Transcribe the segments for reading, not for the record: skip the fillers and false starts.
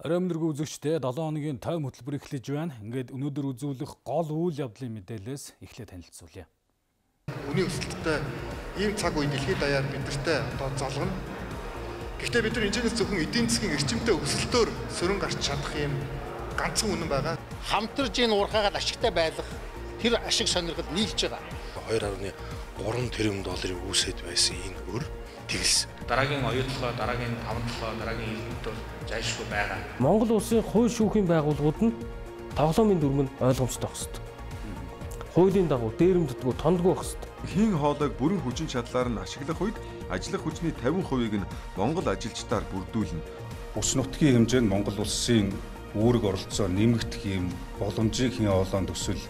Орой өнөргөө үзэгчдээ 7 хоногийн тойм хөтөлбөр эхлэж байна. Ингээд өнөөдөр үзүүлэх гол үйл явдлын мэдээлэлээс эхлээд танилцуулъя. Үний өсөлттэй ийм цаг үе дэлхийд даяар бидэртээ золгоно. Гэхдээ бид нар энэчнээс зөвхөн эдийн засгийн эрчимтэй өсөлтөөр сөрөн гарч чадах юм ганцхан үнэн байгаа. Хамтарж энэ уурхаагаад ашигтай байлгах тэр ашиг сонирхол нийлж байгаа. 2.3 тэрбум долларын үүсэт байсан энэ хөр тэглэсэн. Дараагийн оюутлогоо, дараагийн 5 дараагийн илгэнтөөр зайлшгүй байгаа. Монгол улсын хууль шүүхийн байгууллагууд нь тоглоомын дүрм нь ойлгомжтой байх ёстой. Хуулийн дагуу дээрэмддэггүй тондгүй байх ёстой. Хийн хоолойг бүрэн хүчин чадлаар нь ашиглах үед ажиллах хүчний 50%-ийг нь Монгол ажилчдаар бүрдүүлнэ. Ус нутгийн хэмжээнд Монгол улсын үүрэг оролцоо нэмэгдэх юм боломжийг хийн хоолойн төсөл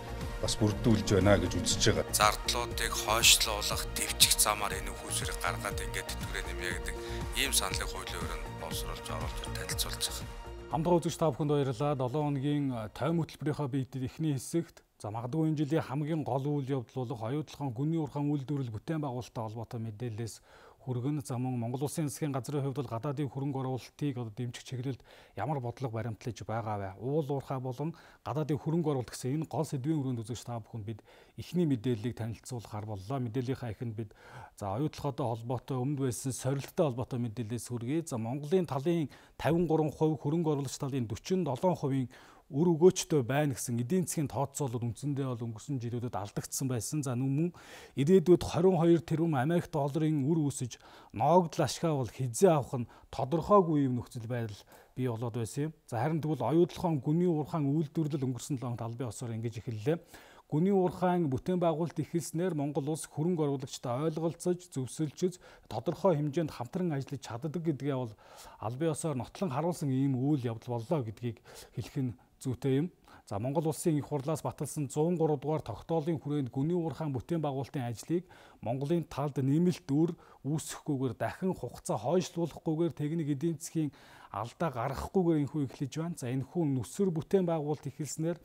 бас бүрдүүлж байна гэж үзэж байгаа. Зардлуудыг хойшлуулах, дэвчих замаар энэ хүүсвэрийг гаргаад ингээд тэтгэврээ нэмье гэдэг ийм саналыг хуулийн өрөөнд боловсруулж оруулж танилцуулж байгаа. Хамтран үзэгч та бүхэнд баярлалаа. 7 хоногийн тойм хөтөлбөрийнхөө биедэд эхний хэсэгт магадгүй энэ жилийн хамгийн гол үйл явдал болох оюутлахын гүний уурхайн үйлдвэрлэл бүтээн байгуулалттай холбоотой мэдээлэлээс хүргэн замун Монгол Улсын засгийн газрын хувьд бол гадаадын хөрөнгө оруулалтыг дэмжих чиглэлд ямар бодлого баримтлаж байгаа вэ? Уул уурхай болон гадаадын хөрөнгө оруулалт гэсэн энэ гол сэдвийн өрөөнд үзэгч та бүхэнд бид эхний мэдээллийг танилцуулахар боллоо. Мэдээллийнхаа эхэнд бид оюутлахтай холбоотой өмнөд байсан сорилттой холбоотой мэдээлэлээс хүргэе. Монголын талын 53%, хөрөнгө оруулагч талын 47% үр өгөөчтэй байна гэсэн эдийн засгийн тооцоолол үндсэндээ бол өнгөрсөн жилүүдэд алдагдсан байсан. За мөн ирээдүйд 22 тэрбум Америк долларын үр үүсэж ноогдол ашгаа бол хизээ авах нь тодорхойгүй юм нөхцөл байдал бий болоод байсан юм. За харин тэгвэл оюутлахын гүний уурхайн үйлдвэрлэл өнгөрсөн 7 албан ёсоор ингэж эхэллээ. Гүний уурхайн бүтээн байгуулалт эхэлснээр Монгол улс хөрөнгө оруулагчтай ойлголцож, зөвсөлжөж, тодорхой хэмжээнд хамтран ажиллаж чаддаг гэдгээ бол албан ёсоор нотлон харуулсан ийм үйл явдал боллоо гэдгийг хэлэх нь зүйтэй юм. За Монгол улсын их хурлаас баталсан 103 дугаар тогтоолын хүрээнд гүний уурхайн бүтээн байгуулалтын ажлыг Монголын талд нэмэлт үр үүсэхгүйгээр дахин хугацаа хойшлуулахгүйгээр техник эдийн засгийн алдаа гаргахгүйгээр энэхүү эхлэж байна. За энэхүү нүсэр бүтээн байгуулалт эхэлснээр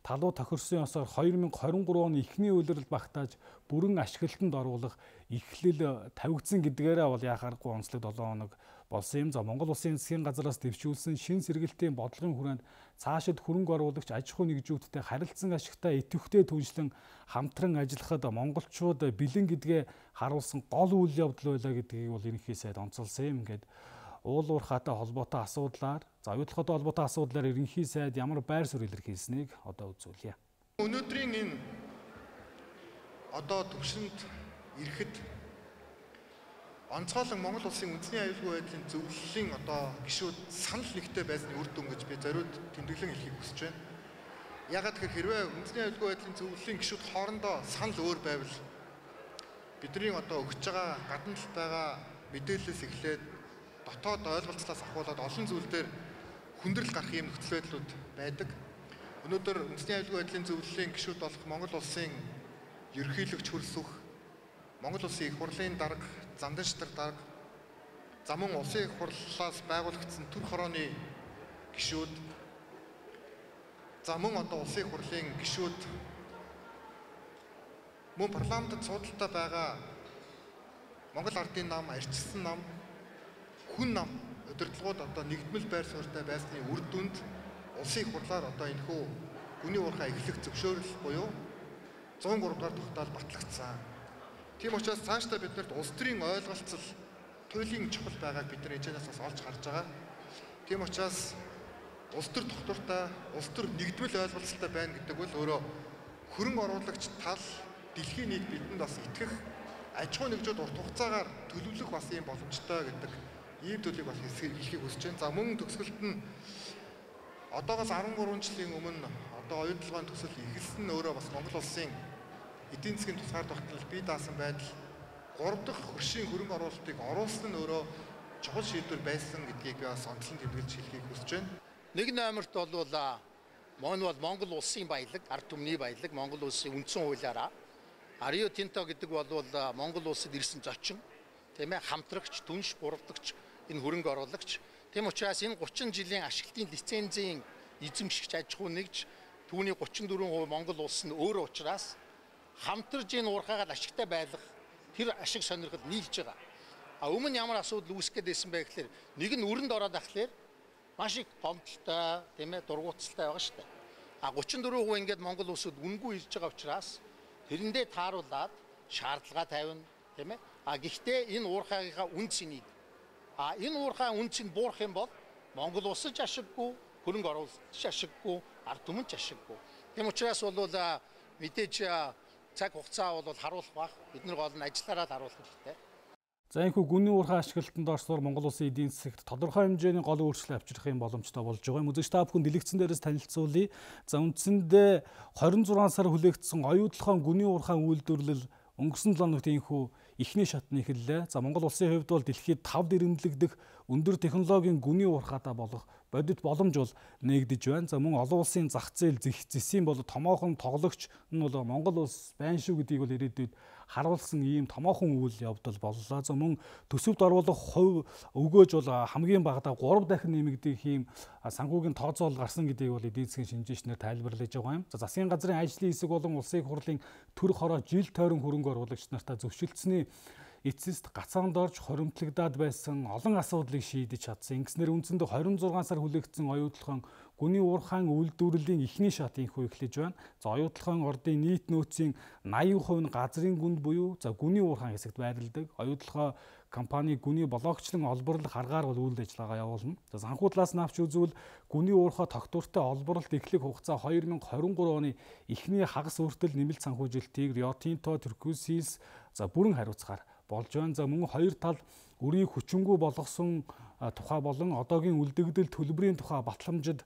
талуу тохирсон ёсоор 2023 оны эхний үйлрэл багтааж бүрэн ашиглалтанд оруулах эхлэл тавигдсан гэдгээрээ бол яхаарахгүй онцлог 7 хоног болсон юм. За Монгол Улсын засгийн газраас дэвшүүлсэн шин сэргэлтийн бодлогын хүрээнд цаашид хөрөнгө оруулагч аж ахуй нэгжүүдтэй харилцан ашигтай идэвхтэй түншлэн хамтран ажиллахад монголчууд бэлэн гэдгээ харуулсан гол үйл явдал байлаа гэдгийг бол ерөнхий сайд онцолсон юм. Ингээд уул уурхайтай холбоотой асуудлаар, оюутлахтай холбоотой асуудлаар ерөнхий сайд ямар байр суурь илэрхийлсэнийг одоо үзүүлье. Өнөөдрийн энэ төвшөнд ирэхэд онцгойлон Монгол Улсын үндэсний аюулгүй байдлын зөвлөлийн гишүүд санал нэгтэй байсны үр дүн гэж би зориуд тэмдэглэн хэлхийг хүсэж байна. Яагаад гэхээр хэрвээ үндэсний аюулгүй байдлын зөвлөлийн гишүүд хоорондоо санал өөр байвал бидний өгч байгаа гадна талд байгаа мэдээлэлээс эхлээд дотоод ойлголцлоос ахуулаад олон зүйл дээр хүндрэл гарах юм нөхцөл байдлууд байдаг. Өнөөдөр үндэсний аюулгүй байдлын зөвлөлийн гишүүд болох Монгол Улсын ерөнхийлөгч хөрсөх, Монгол Улсын их хурлын дарга, замдан шатар дарга, за мөн улсын их хурлаас байгуулагдсан төр хорооны гишүүд, за мөн улсын их хурлын гишүүд, мөн парламентд судалтай байгаа Монгол ардын нам, арчилсан нам, хүн нам удирдлагууд нэгдмэл байр суурьтай байсны үр дүнд улсын их хурлаар энэхүү гүний уурхай эхлэх зөвшөөрөл буюу 103 дугаар тогтоол батлагдсан. Тийм учраас цаашдаа биднэрт улс төрийн ойлголцол туйлын чухал байгааг бид нар эцэнээс бас олж харж байгаа. Тийм учраас улс төр тогтвортой, улс төр нэгдмэл ойлголцолтой байна гэдэг бол өөрөө хөрөнгө оруулагч тал дэлхийн нийт бидэнд бас итгэх, аж ахуй нэгжүүд урт хугацаагаар төлөвлөх бас юм боломжтой гэдэг ийм төлөвийг бас хэлхийг хүсэж байна. За мөн төгсгөлд нь одоогоос 13 жилийн өмнө оюутлогын төсөл эхэлсэн нь өөрөө бас Монгол Улсын эдийн засгийн тусгаар тогтнол бий даасан байдал 3 дахь хөршийн хөрөнгө оруулалтыг оруулсан нь өөрөө чухал шийдвэр байсан гэдгийг би бас онцлон тэмдэглэж хэлхийг хүсэж байна. Нэг номерт бол Монгол Улсын баялаг, ард түмний баялаг, Монгол Улсын үндсэн хуулиараа Rio Tinto гэдэг бол Монгол Улсад ирсэн зочин, тийм ээ, хамтрагч, түнш, буравдагч, энэ хөрөнгө оруулагч. Тийм учраас энэ 30 жилийн ашиглалтын лицензийн эзэмшигч аж ахуй нэгж түүний 34% Монгол улс нь өөрөө учраас хамтарж энэ уурхаагаад ашигтай байлгах тэр ашиг сонирхол нийлж байгаа. Өмнө ямар асуудал үүсгэж байсан бэ гэхээр нэг нь өрөнд ороод ахлаар маш их томчлолтой, тийм ээ, дургууталтай байгаа шүү дээ. 34% ингээд Монгол улсад үнгүй ирж байгаа учраас тэрэндээ тааруулаад шаардлага тавина, тийм ээ. Гэхдээ энэ уурхайгийнхаа үн цэнийг энэ уурхай үн цэнд буурах юм бол Монгол улс ч ашиггүй, хөрөнгө оруулалт ч ашиггүй, ард түмэн ч ашиггүй. Тийм учраас бол мэдээж цаг хугацаа бол харуулах бах. Бид нар гол нь ажиллаараа харуулах хэрэгтэй. За энэхүү гүнний уурхай ашиглалтанд орсноор Монгол улсын эдийн засагт тодорхой хэмжээний гол өөрчлөлт авчрах юм боломжтой болж байгаа юм. Үзэгч та бүхэн дэлгэцэн дээрээс танилцуулъя. За үндсэндээ 26 сар хүлээгдсэн оюутлахын гүнний уурхай үйлдвэрлэл өнгөрсөн 7 өнөخت энэхүү эхний шатны эхэллээ. За Монгол улсын хувьд бол дэлхийд 5 дэрэмдлэгдэх өндөр технологийн гүнний уурхайтай болох бодит боломж бол нээгдэж байна. За мөн олон улсын зах зээл зэсийн бол томоохон тоглогч нь бол Монгол улс байна шүү гэдгийг бол ирээдүйд харуулсан ийм томоохон үйл явдал боллоо. За мөн төсөвт оруулах хувь өгөөж бол хамгийн багадаа 3 дахин нэмэгдэх ийм санхүүгийн тооцоол гарсан гэдгийг бол эдийн засгийн шинжээчнэр тайлбарлаж байгаа юм. За засгийн газрын ажлын хэсэг болон улсын хурлын төр хороо жил тойрон хөрөнгө оруулагч нартаа зөвшөлдсөний эцэст гацаанд орж хоримтлагдаад байсан олон асуудлыг шийдэж чадсан. Ингэснээр үндсэндээ 26 сар хүлээгдсэн оюутлахын гүний уурхайн үйлдвэрлэлийн эхний шат инхүү эхлэж байна. За оюутлахын ордын нийт нөөцийн 80% нь газрын гүнд буюу за гүний уурхайн хэсэгт байрладаг. Оюутлахаа компани гүний блокчлон олборлох аргаар бол үйл ажиллагаа явуулна. За санхүү талаас нь авч үзвэл гүний уурхай тогтвортой олборлолт эхлэх хугацаа 2023 оны эхний хагас үртэл нэмэлт санхүүжилтийг Rio Tinto, Turquoise за бүрэн хариуцахаар болж байна. За мөн хоёр тал өрийг хүчингүй болгосон тухай болон одоогийн үлдэгдэл төлбөрийн тухай батламжид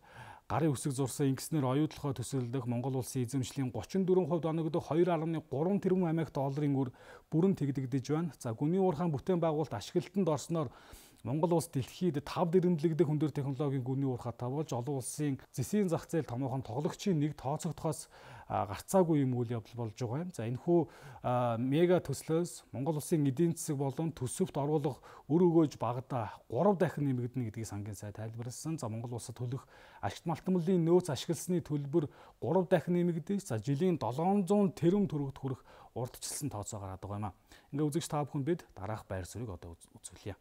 гарын үсэг зурсан. Ингэснээр оюутлахаа төсөөлөх Монгол улсын эзэмшлийн 34% оногдох 2.3 тэрбум Америк долларын үр бүрэн тэгдэгдэж байна. За гүний уурхайн бүтээн байгуулалт ашиглалтанд орсноор Монгол улс дэлхийд 5 дэрэмдлэгдэх өндөр технологийн гүний уурхайтай болж олон улсын зэсийн зах зээл томоохон тоглогчийн нэг тооцогдохоос гарцаагүй юм үйл явдал болж байгаа юм. За энэхүү мега төслөөс Монгол улсын эдийн засаг болон төсөвт оруулах өр өгөөж багадаа 3 дахин нэмэгдэнэ гэдгийг сангийн сайд тайлбарласан. За Монгол улсад төлөх ашигт малтмлын нөөц ашигласны төлбөр 3 дахин нэмэгдэж за жилийн 700 тэрбум төгрөгт хүрэх урдчилсан тооцоо гараад байгаа юм а. Ингээ үзэгч та бүхэнд бид дараах байр суурийг одоо үзүүлье.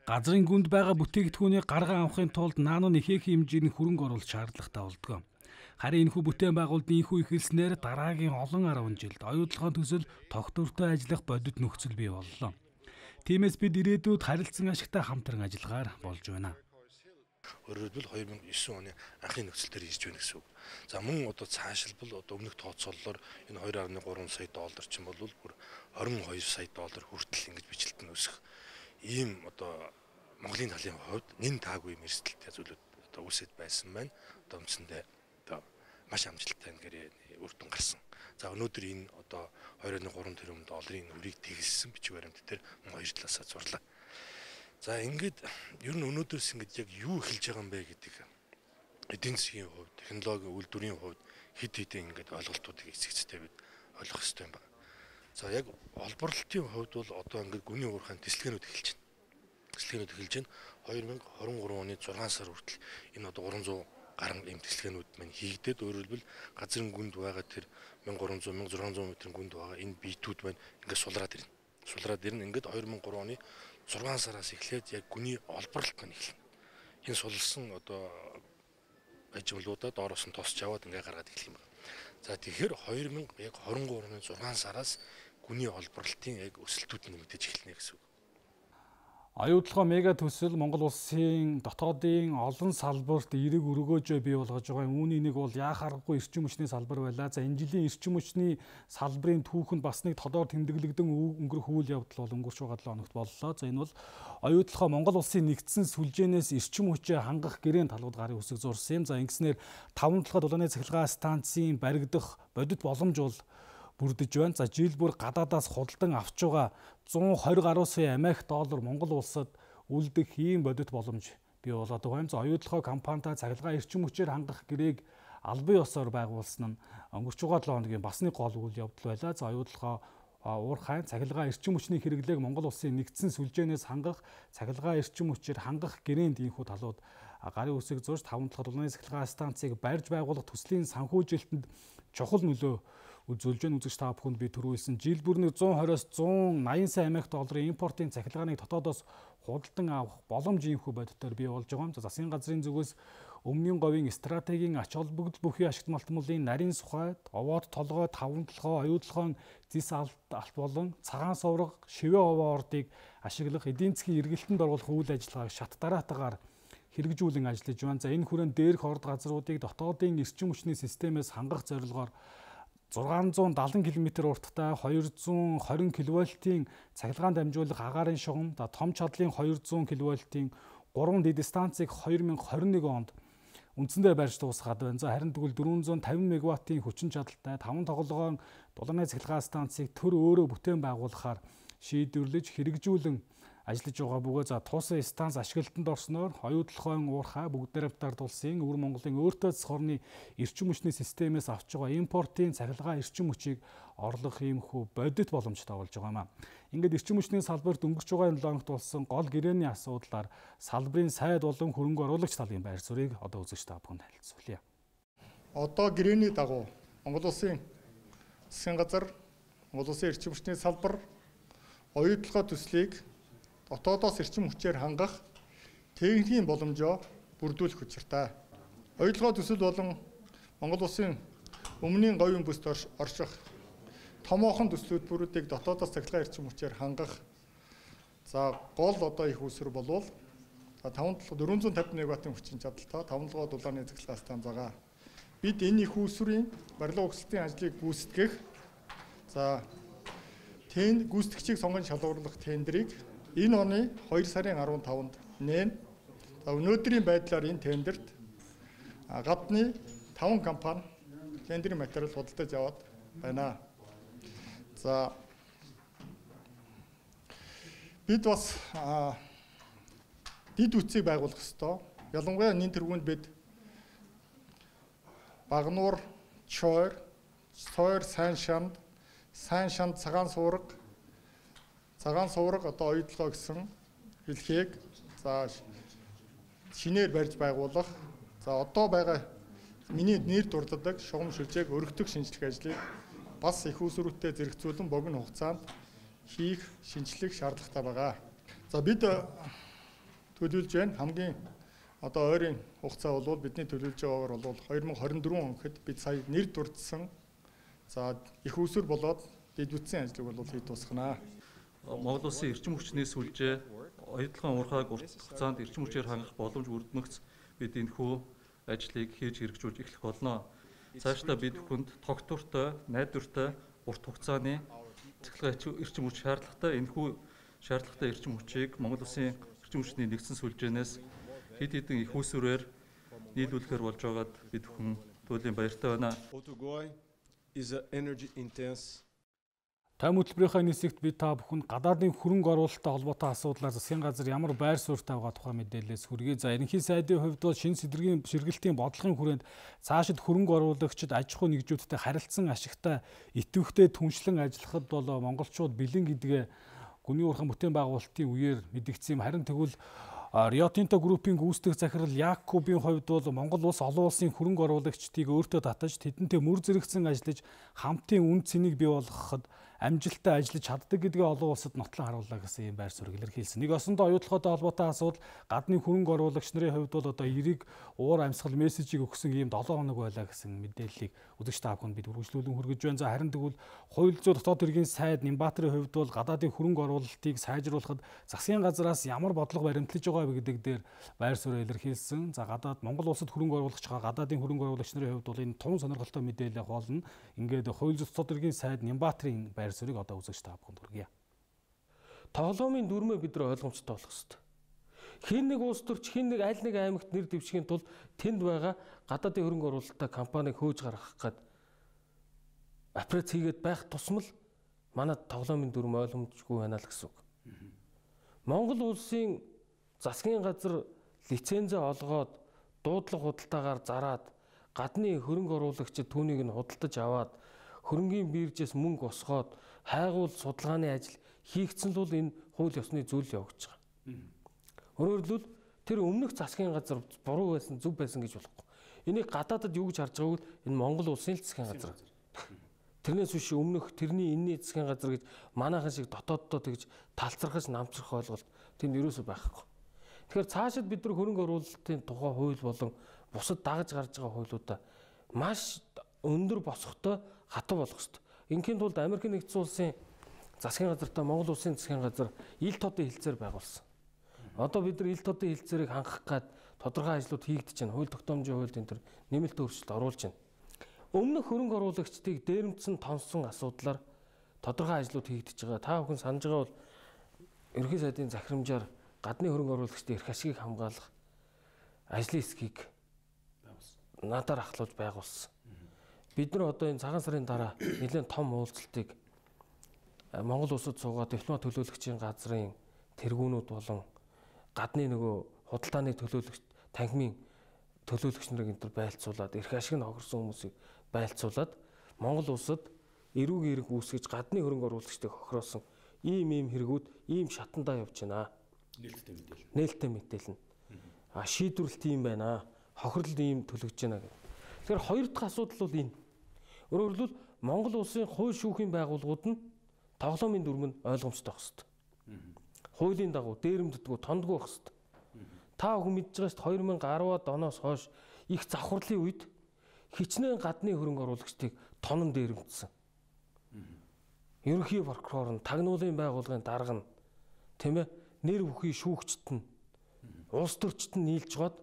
Газрын гүнд байгаа бүтээгдэхүүнийг гарган авахын тулд наано нэхэх хэмжээний хөрөнгө оруулалт шаардлагатай болдог. Харин энэхүү бүтээн байгуулалтын энэхүү эхэлснээр дараагийн олон 10 жилд оюутлахын төсөл тогтвортой ажиллах бодит нөхцөл бий боллоо. Тиймээс бид ирээдүйд харилцан ашигтай хамтран ажиллагаар болж байна. Өөрөөр хэлбэл 2009 оны анхны нөхцөл дээр ирж байна гэсэн үг. За мөн одоо цаашилбал одоо өмнөх тооцоололоор энэ 2.3 сая доллар ч юм бол бүр 22 сая доллар хүртэл ингэж бичлэлт нь өсөх ийм одоо Монголын талын хувьд нэн таагүй юм эрсдэлтэй зүйлүүд одоо үүсэт байсан байна. Одоо үндсэндээ одоо маш амжилттай ингээд үр дүн гарсан. За өнөөдөр энэ одоо 2.3 тэрбум долларын үрийг тэгэлсэн бичиг баримт дээр хоёр талаасаа зурлаа. За ингээд ер нь өнөөдөөс ингээд яг юу эхэлж байгаа юм бэ гэдэг эдийн засгийн хувьд, технологийн үйлдвэрийн хувьд хэд хэдэн ингээд ойлголтуудыг эцэгцтэй бид ойлгох хэрэгтэй юм байна. За яг олборлолтын хувьд бол одоо ингээд гүний уурхайн тэслэгэнүүд эхэлж байна. Тэслэгэнүүд эхэлж байна. 2023 оны 6 сар хүртэл энэ одоо 300 гаруй ийм тэслэгэнүүд маань хийгдээд өөрөөр хэлбэл газрын гүнд байгаа тэр 1300 1600 метрийн гүнд байгаа энэ биетүүд маань ингээд сулраад ирнэ. Сулраад ирнэ. Ингээд 2003 оны 6 сараас эхлээд яг гүний олборлолт маань эхэлнэ. Энэ сулсан одоо ажиглуудаа доороос нь тосч аваад ингээ гаргаад эхлэх юм байна. За тэгэхээр 2023 оны 6 сараас гүний олборлолтын яг өсөлтүүд нэмэгдэж эхэлнэ гэсэн үг. Оюутлахаа мега төсөл Монгол улсын дотоодын олон салбарт эерэг өргөөжөө бий болгож байгаа. Үүний нэг бол яахааргүй эрчим хүчний салбар байлаа. За энэ жилийн эрчим хүчний салбарын түүхэнд бас нэг тодор тэмдэглэгдэн өнгөрөх үйл явдал бол өнгөрч байгаа 7 хоногт боллоо. За энэ бол оюутлахаа Монгол улсын нэгдсэн сүлжээнээс эрчим хүчээ хангах гэрээний талууд гарын үсэг зурсан юм. За ингэснээр 5 талхад улааны цахилгаан станцын баригдах бодит боломж бол бүрдэж байна. За жил бүр гадаадаас худалдан авч байгаа 120 гаруй сая Америк доллар Монгол улсад үлдэх ийм бодит боломж бий болоод байгаа юм. За оюутлахаа компанитай цахилгаан эрчим хүчээр хангах гэрээг албан ёсоор байгуулсан нь өнгөрч байгаа 7 хоногийн бас нэг гол үйл явдал байлаа. За оюутлахаа уурхайн цахилгаан эрчим хүчний хэрэглээг Монгол улсын нэгдсэн сүлжээнээс хангах, цахилгаан эрчим хүчээр хангах гэрээнд ийхүү талууд гарын үсэг зурж 5 талхад улааны цахилгаан станцыг барьж байгуулах төслийн санхүүжилтэнд чухал нөлөө үзүүлж байна. Үзэгч та бүхэнд би түрүү хэлсэн жил бүрний 120-оос 180 сая Америк долларын импортын цахилгааныг дотоодоос худалдан авах боломж иймхүү бодитоор бий болж байгаа юм. Засгийн газрын зүгээс өмнгийн говийн стратегийн ач холбогдол бүхий ашигт малтмуулын нарийн сухай, овоод толгой, таван толгой, оюутлогын зис алт болон цагаан сувраг, шивээ овоо ордыг ашиглах эдийн засгийн эргэлтэнд оруулах үйл ажиллагааг шат дараатаагаар хэрэгжүүлэн ажиллаж байна. За энэ хүрээнд дээрх орд газруудыг дотоодын эрчим хүчний системээс хангах зорилгоор 670 км урттай 220 кВт-ийн цахилгаан дамжуулах агаарын шугам, том чадлын 200 кВт-ийн 3 дэд станцыг 2021 онд үндсэндээ барьж дуусгаад байна. За харин тэгвэл 450 МВт-ийн хүчин чадалтай 5 тоглоом дулааны цахилгаан станцыг төр өөрөө бүтээн байгуулахаар шийдвэрлэж хэрэгжүүлэн ажиллаж байгаа бөгөөд за туусан станц ашиглалтанд орсноор оюутлогын уурхай бүгдээр хамтард улсын өвөр Монголын өөртөө засхорны эрчим хүчний системээс авч байгаа импортын цахилгаан эрчим хүчийг орлох иймхүү бодит боломжтой болж байгаа юм а. Ингээд эрчим хүчний салбарт өнгөрч байгаа 7 хоногт болсон гол гэрээний асуудлаар салбарын сайд болон хөрөнгө оруулагч талын байр суурийг одоо үзэгч та бүхэнд танилцуулъя. Одоо гэрээний дагуу Монгол Улсын засгийн газар, Монгол Улсын эрчим хүчний салбар оюутлогоо төслийг дотоодоос эрчим хүчээр хангах техникийн боломжоо бүрдүүлэх учиртай. Оюутлогоо төсөл болон Монгол Улсын өмнгийн говийн бүст орших томоохон төслүүдийг дотоодоос цахилгаан эрчим хүчээр хангах за гол одоо их үүсвэр болвол 450 МВт-ийн хүчин чадалтай 5 дулааны цахилгаан станц байгаа. Бид энэ их үүсвэрийн барилга угсалтын ажлыг гүйцэтгэх за гүйцэтгэгчийг сонгон шалгуурлах тендерийг энэ оны 2 сарын 15-нд нээн. Өнөөдрийн байдлаар энэ тендерт гадны 5 компани тендерийн материал худалдаж аваад байна. За бид бас дид үтсийг байгуулах ёстой. Ялангуяа энэ тэргуунд бид Багнуур, Чойр, Сайн шанд, цагаан сувраг одоо оюутлогоо гэсэн хэлхийг за шинээр барьж байгуулах. За одоо байгаа миний нэр дурддаг шугам шүлжээг өргөтөх шинжлэх ажлыг бас их усрүүттэй зэрэгцүүлэн богино хугацаанд хийх шинжлэх шаардлагатай байгаа. За бид төлөвлөж байна. Хамгийн одоо ойрын хугацаа бол бидний төлөвлөж байгаагаар бол 2024 он гэхэд бид сая нэр дурдсан за их усүр болоод дид бүтцийн ажлыг бол хийж дуусгана. Монгол Улсын эрчим хүчний сүлжээ оюутлогын уурхайг урт хугацаанд эрчим хүчээр хангах боломж бүрдмэгц бид энэхүү ажлыг хийж хэрэгжүүлж эхлэх болно. Цаашдаа бид бүхэнд тогтвортой, найдвартай, урт хугацааны цахилгаан эрчим хүч шаардлагатай энэхүү шаардлагатай эрчим хүчийг Монгол Улсын эрчим хүчний нэгдсэн сүлжээнээс хэд хэдэн их үүсвэрээр нийлүүлэхээр болж байгаад бид бүхэн туйлын баяртай байна. Тайм хөтөлбөрийнхаа нисэгт бид та бүхэнд гадаадын хөрөнгө оруулалттай холбоотой асуудлаар засгийн газар ямар байр суурьтай байгаа тухай мэдээлэлээс хүргэе. За ерөнхий сайдын хувьд бол шинэ сэдвэргийн ширгэлтийн бодлогын хүрээнд цаашид хөрөнгө оруулагчид аж ахуй нэгжүүдтэй харилцсан ашигтай идэвхтэй түншлэн ажиллахад бол монголчууд бэлэн гэдгээ гүний уурхайн бүтээн байгуулалтын үеэр мэдгдсэн юм. Харин тэгвэл Rio Tinto Group-ийн гүйцэтгэх захирал Якубын хувьд бол Монгол улс олон улсын хөрөнгө оруулагчдыг өөртөө татаж тэдэнтэй мөр зэрэгцэн ажиллаж хамтын үн цэнийг бий болгоход амжилттай ажиллаж чаддаг гэдгээ олон улсад нотлон харууллаа гэсэн юм байр суурийг илэрхийлсэн. Нэг осондоо оюутлоготой холбоотой асуудал гадны хөрөнгө оруулагч нарын хувьд бол одоо эрийг уур амьсгал мессежийг өгсөн ийм 7 хоног байлаа гэсэн мэдээллийг үзэгч та бүхэнд бид үргэлжлүүлэн хүргэж байна. За харин тэгвэл хууль зүйн дотоод хэргийн сайд Нямбаатарын хувьд бол гадаадын хөрөнгө оруулалтыг сайжруулахад засгийн газраас ямар бодлого баримтлаж байгаа гэдэг дээр байр суурь илэрхийлсэн. За гадаад Монгол улсад хөрөнгө оруулагч байгаа гадаадын хөрөнгө оруулагч нарын хувьд бол энэ тун сонирхолтой мэдээлэл болно. Ингээд хууль зүйн дотоод хэргийн сайд Нямбаатарын байр суурийг одоо үзэгч та бүхэнд хүргье. Тоглоомын дүрмээ бид нар ойлгомжтой болох хэрэгтэй. Хин нэг улс төрч хин нэг аль нэг аймагт нэр дэвшихийн тулд тэнд байгаа гадаадын хөрөнгө оруулалттай компанийг хөөж гаргах гээд аппарат хийгээд байх тусмал манай тоглоомын дүрм ойлгомжгүй байна л гэсэн үг. Монгол улсын засгийн газар лицензээ олгоод дуудлага худалдаагаар зараад гадны хөрөнгө оруулагчид түүнийг нь худалдаж аваад хөрөнгийн биржээс мөнгө осгоод хайгуул судалгааны ажил хийгдсэн л энэ хууль ёсны зүйл явагдаж байгаа. Өөрөөр хэлбэл тэр өмнөх засгийн газар буруу байсан, зөв байсан гэж болохгүй. Энийг гадаадад юу гэж харж байгааг энэ Монгол улсын засгийн газар. Тэрнээс биш өмнөх тэрний энэний засгийн газар гэж манайхан шиг дотооддоо тэгж талцрахаж намцрах ойлголт тэнд ерөөсөө байхгүй. Тэгэхээр цаашид бид нар хөрөнгө оруулалтын тухай хууль болон бусад дагаж гарч байгаа хуулиудаа маш өндөр босгохтой хатуу болгох ёстой. Инхийн тулд Америкийн нэгдсэн улсын засгийн газартай Монгол улсын засгийн газар ил тодын хэлцээр байгуулсан. Одоо бид нар ил тодын хэлцээрийг хангах гад тодорхой ажлууд хийгдэж байна. Хууль тогтоомжийн хуульд энэ төр нэмэлт өөрчлөлт оруулж байна. Өмнөх хөрөнгө оруулагчдыг дээрэмдсэн тонсон асуудлаар тодорхой ажлууд хийгдэж байгаа. Та бүхэн санаж байгаа бол ерөнхий сайдын захирамжаар гадны хөрөнгө оруулагчдын эрх ашигыг хамгаалах ажлын хэсгийг надаар ахлуулж байгуулсан. Бид нар одоо энэ цагаан сарын дараа нэлээд том уулзалтыг Монгол улсад суугаад дипломат төлөөлөгчийн газрын тэргүүнүүд болон гадны нөгөө худалдааны төлөөлөгч танхимын төлөөлөгч нарыг энэ төр байлцуулаад эрх ашиг нь хохирсон хүмүүсийг байлцуулаад Монгол улсад эрүүг эрг үүсгэж гадны хөрөнгө оруулагчдыг хохироосон ийм хэрэгүүд ийм шатандаа явж байна. Нээлттэй мэдээлэл. Шийдвэрлэлт ийм байна. Хохирол ийм төлөгдөж байна гэх. Тэгэхээр хоёр дахь асуудал бол энэ. Өөрөөр хэлбэл Монгол улсын хууль шүүхийн байгууллагууд нь тоглоомын дүрм нь ойлгомжтой байх хэрэгтэй. Хуулийн дагуу дээрэмддэггүй тондгүй байх хэрэгтэй. Та бүхэн мэдж байгаа шүү дээ 2010-ад оноос хойш их завхарлын үед хичнээн гадны хөрөнгө оруулагчдыг тонон дээрэмдсэн. Ерөнхий прокурор нь, тагнуулын байгууллагын дарга нь, тийм ээ, нэр бүхий шүүгчд нь, улс төрчд нь нийлж гоод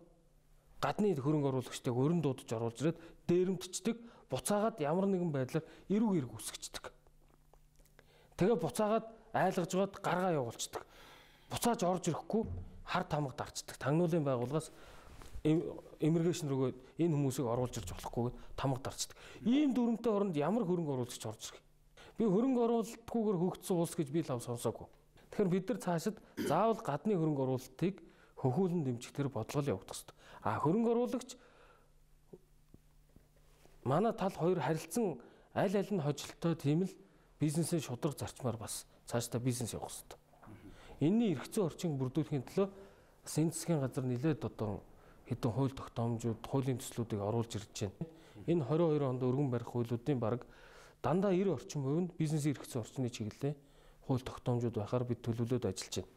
гадны хөрөнгө оруулагчдыг өрн дуудаж оруулж ирээд дээрэмдчихдэг, буцаагаад ямар нэгэн байдлаар эрүүг эрг үсгчдэг. Тэгээ буцаагаад айлгаж гоод гаргаа явуулцдаг. Буцааж орж ирэхгүй хар тамга дарчдаг. Тагнуулын байгууллагаас иммиграшн руугаа энэ хүмүүсийг оруулж ирж болохгүйгээд тамга дарчдаг. Ийм дүрмтэй оронд ямар хөрөнгө оруулагч орж ирэх. Би хөрөнгө оруулалтгүйгээр хөгжсөн улс гэж би лав сонсоогүй. Тэгэхээр бид нар цаашид заавал гадны хөрөнгө оруулалтыг хөхүүлэн дэмжих тэр бодлого явагдах хэрэгтэй. Хөрөнгө оруулагч манай тал хоёр харилцсан аль аль нь хожолтой тийм л бизнесийн шударга зарчмаар бас цаашдаа бизнес явах хэрэгтэй. Энэний эргэцэн орчинг бүрдүүлэхийн төлөө бас энэ засгийн газар нэлээд одоо хэдэн хууль тогтоомжууд, хуулийн төслүүдийг оруулж ирж байна. Энэ 22 онд өргөн барих хуулиудын бараг дандаа 90 орчим хувь нь бизнесийн эргэцэн орчны чиглэлээр хууль тогтоомжууд байхаар бид төлөвлөд ажиллаж байна.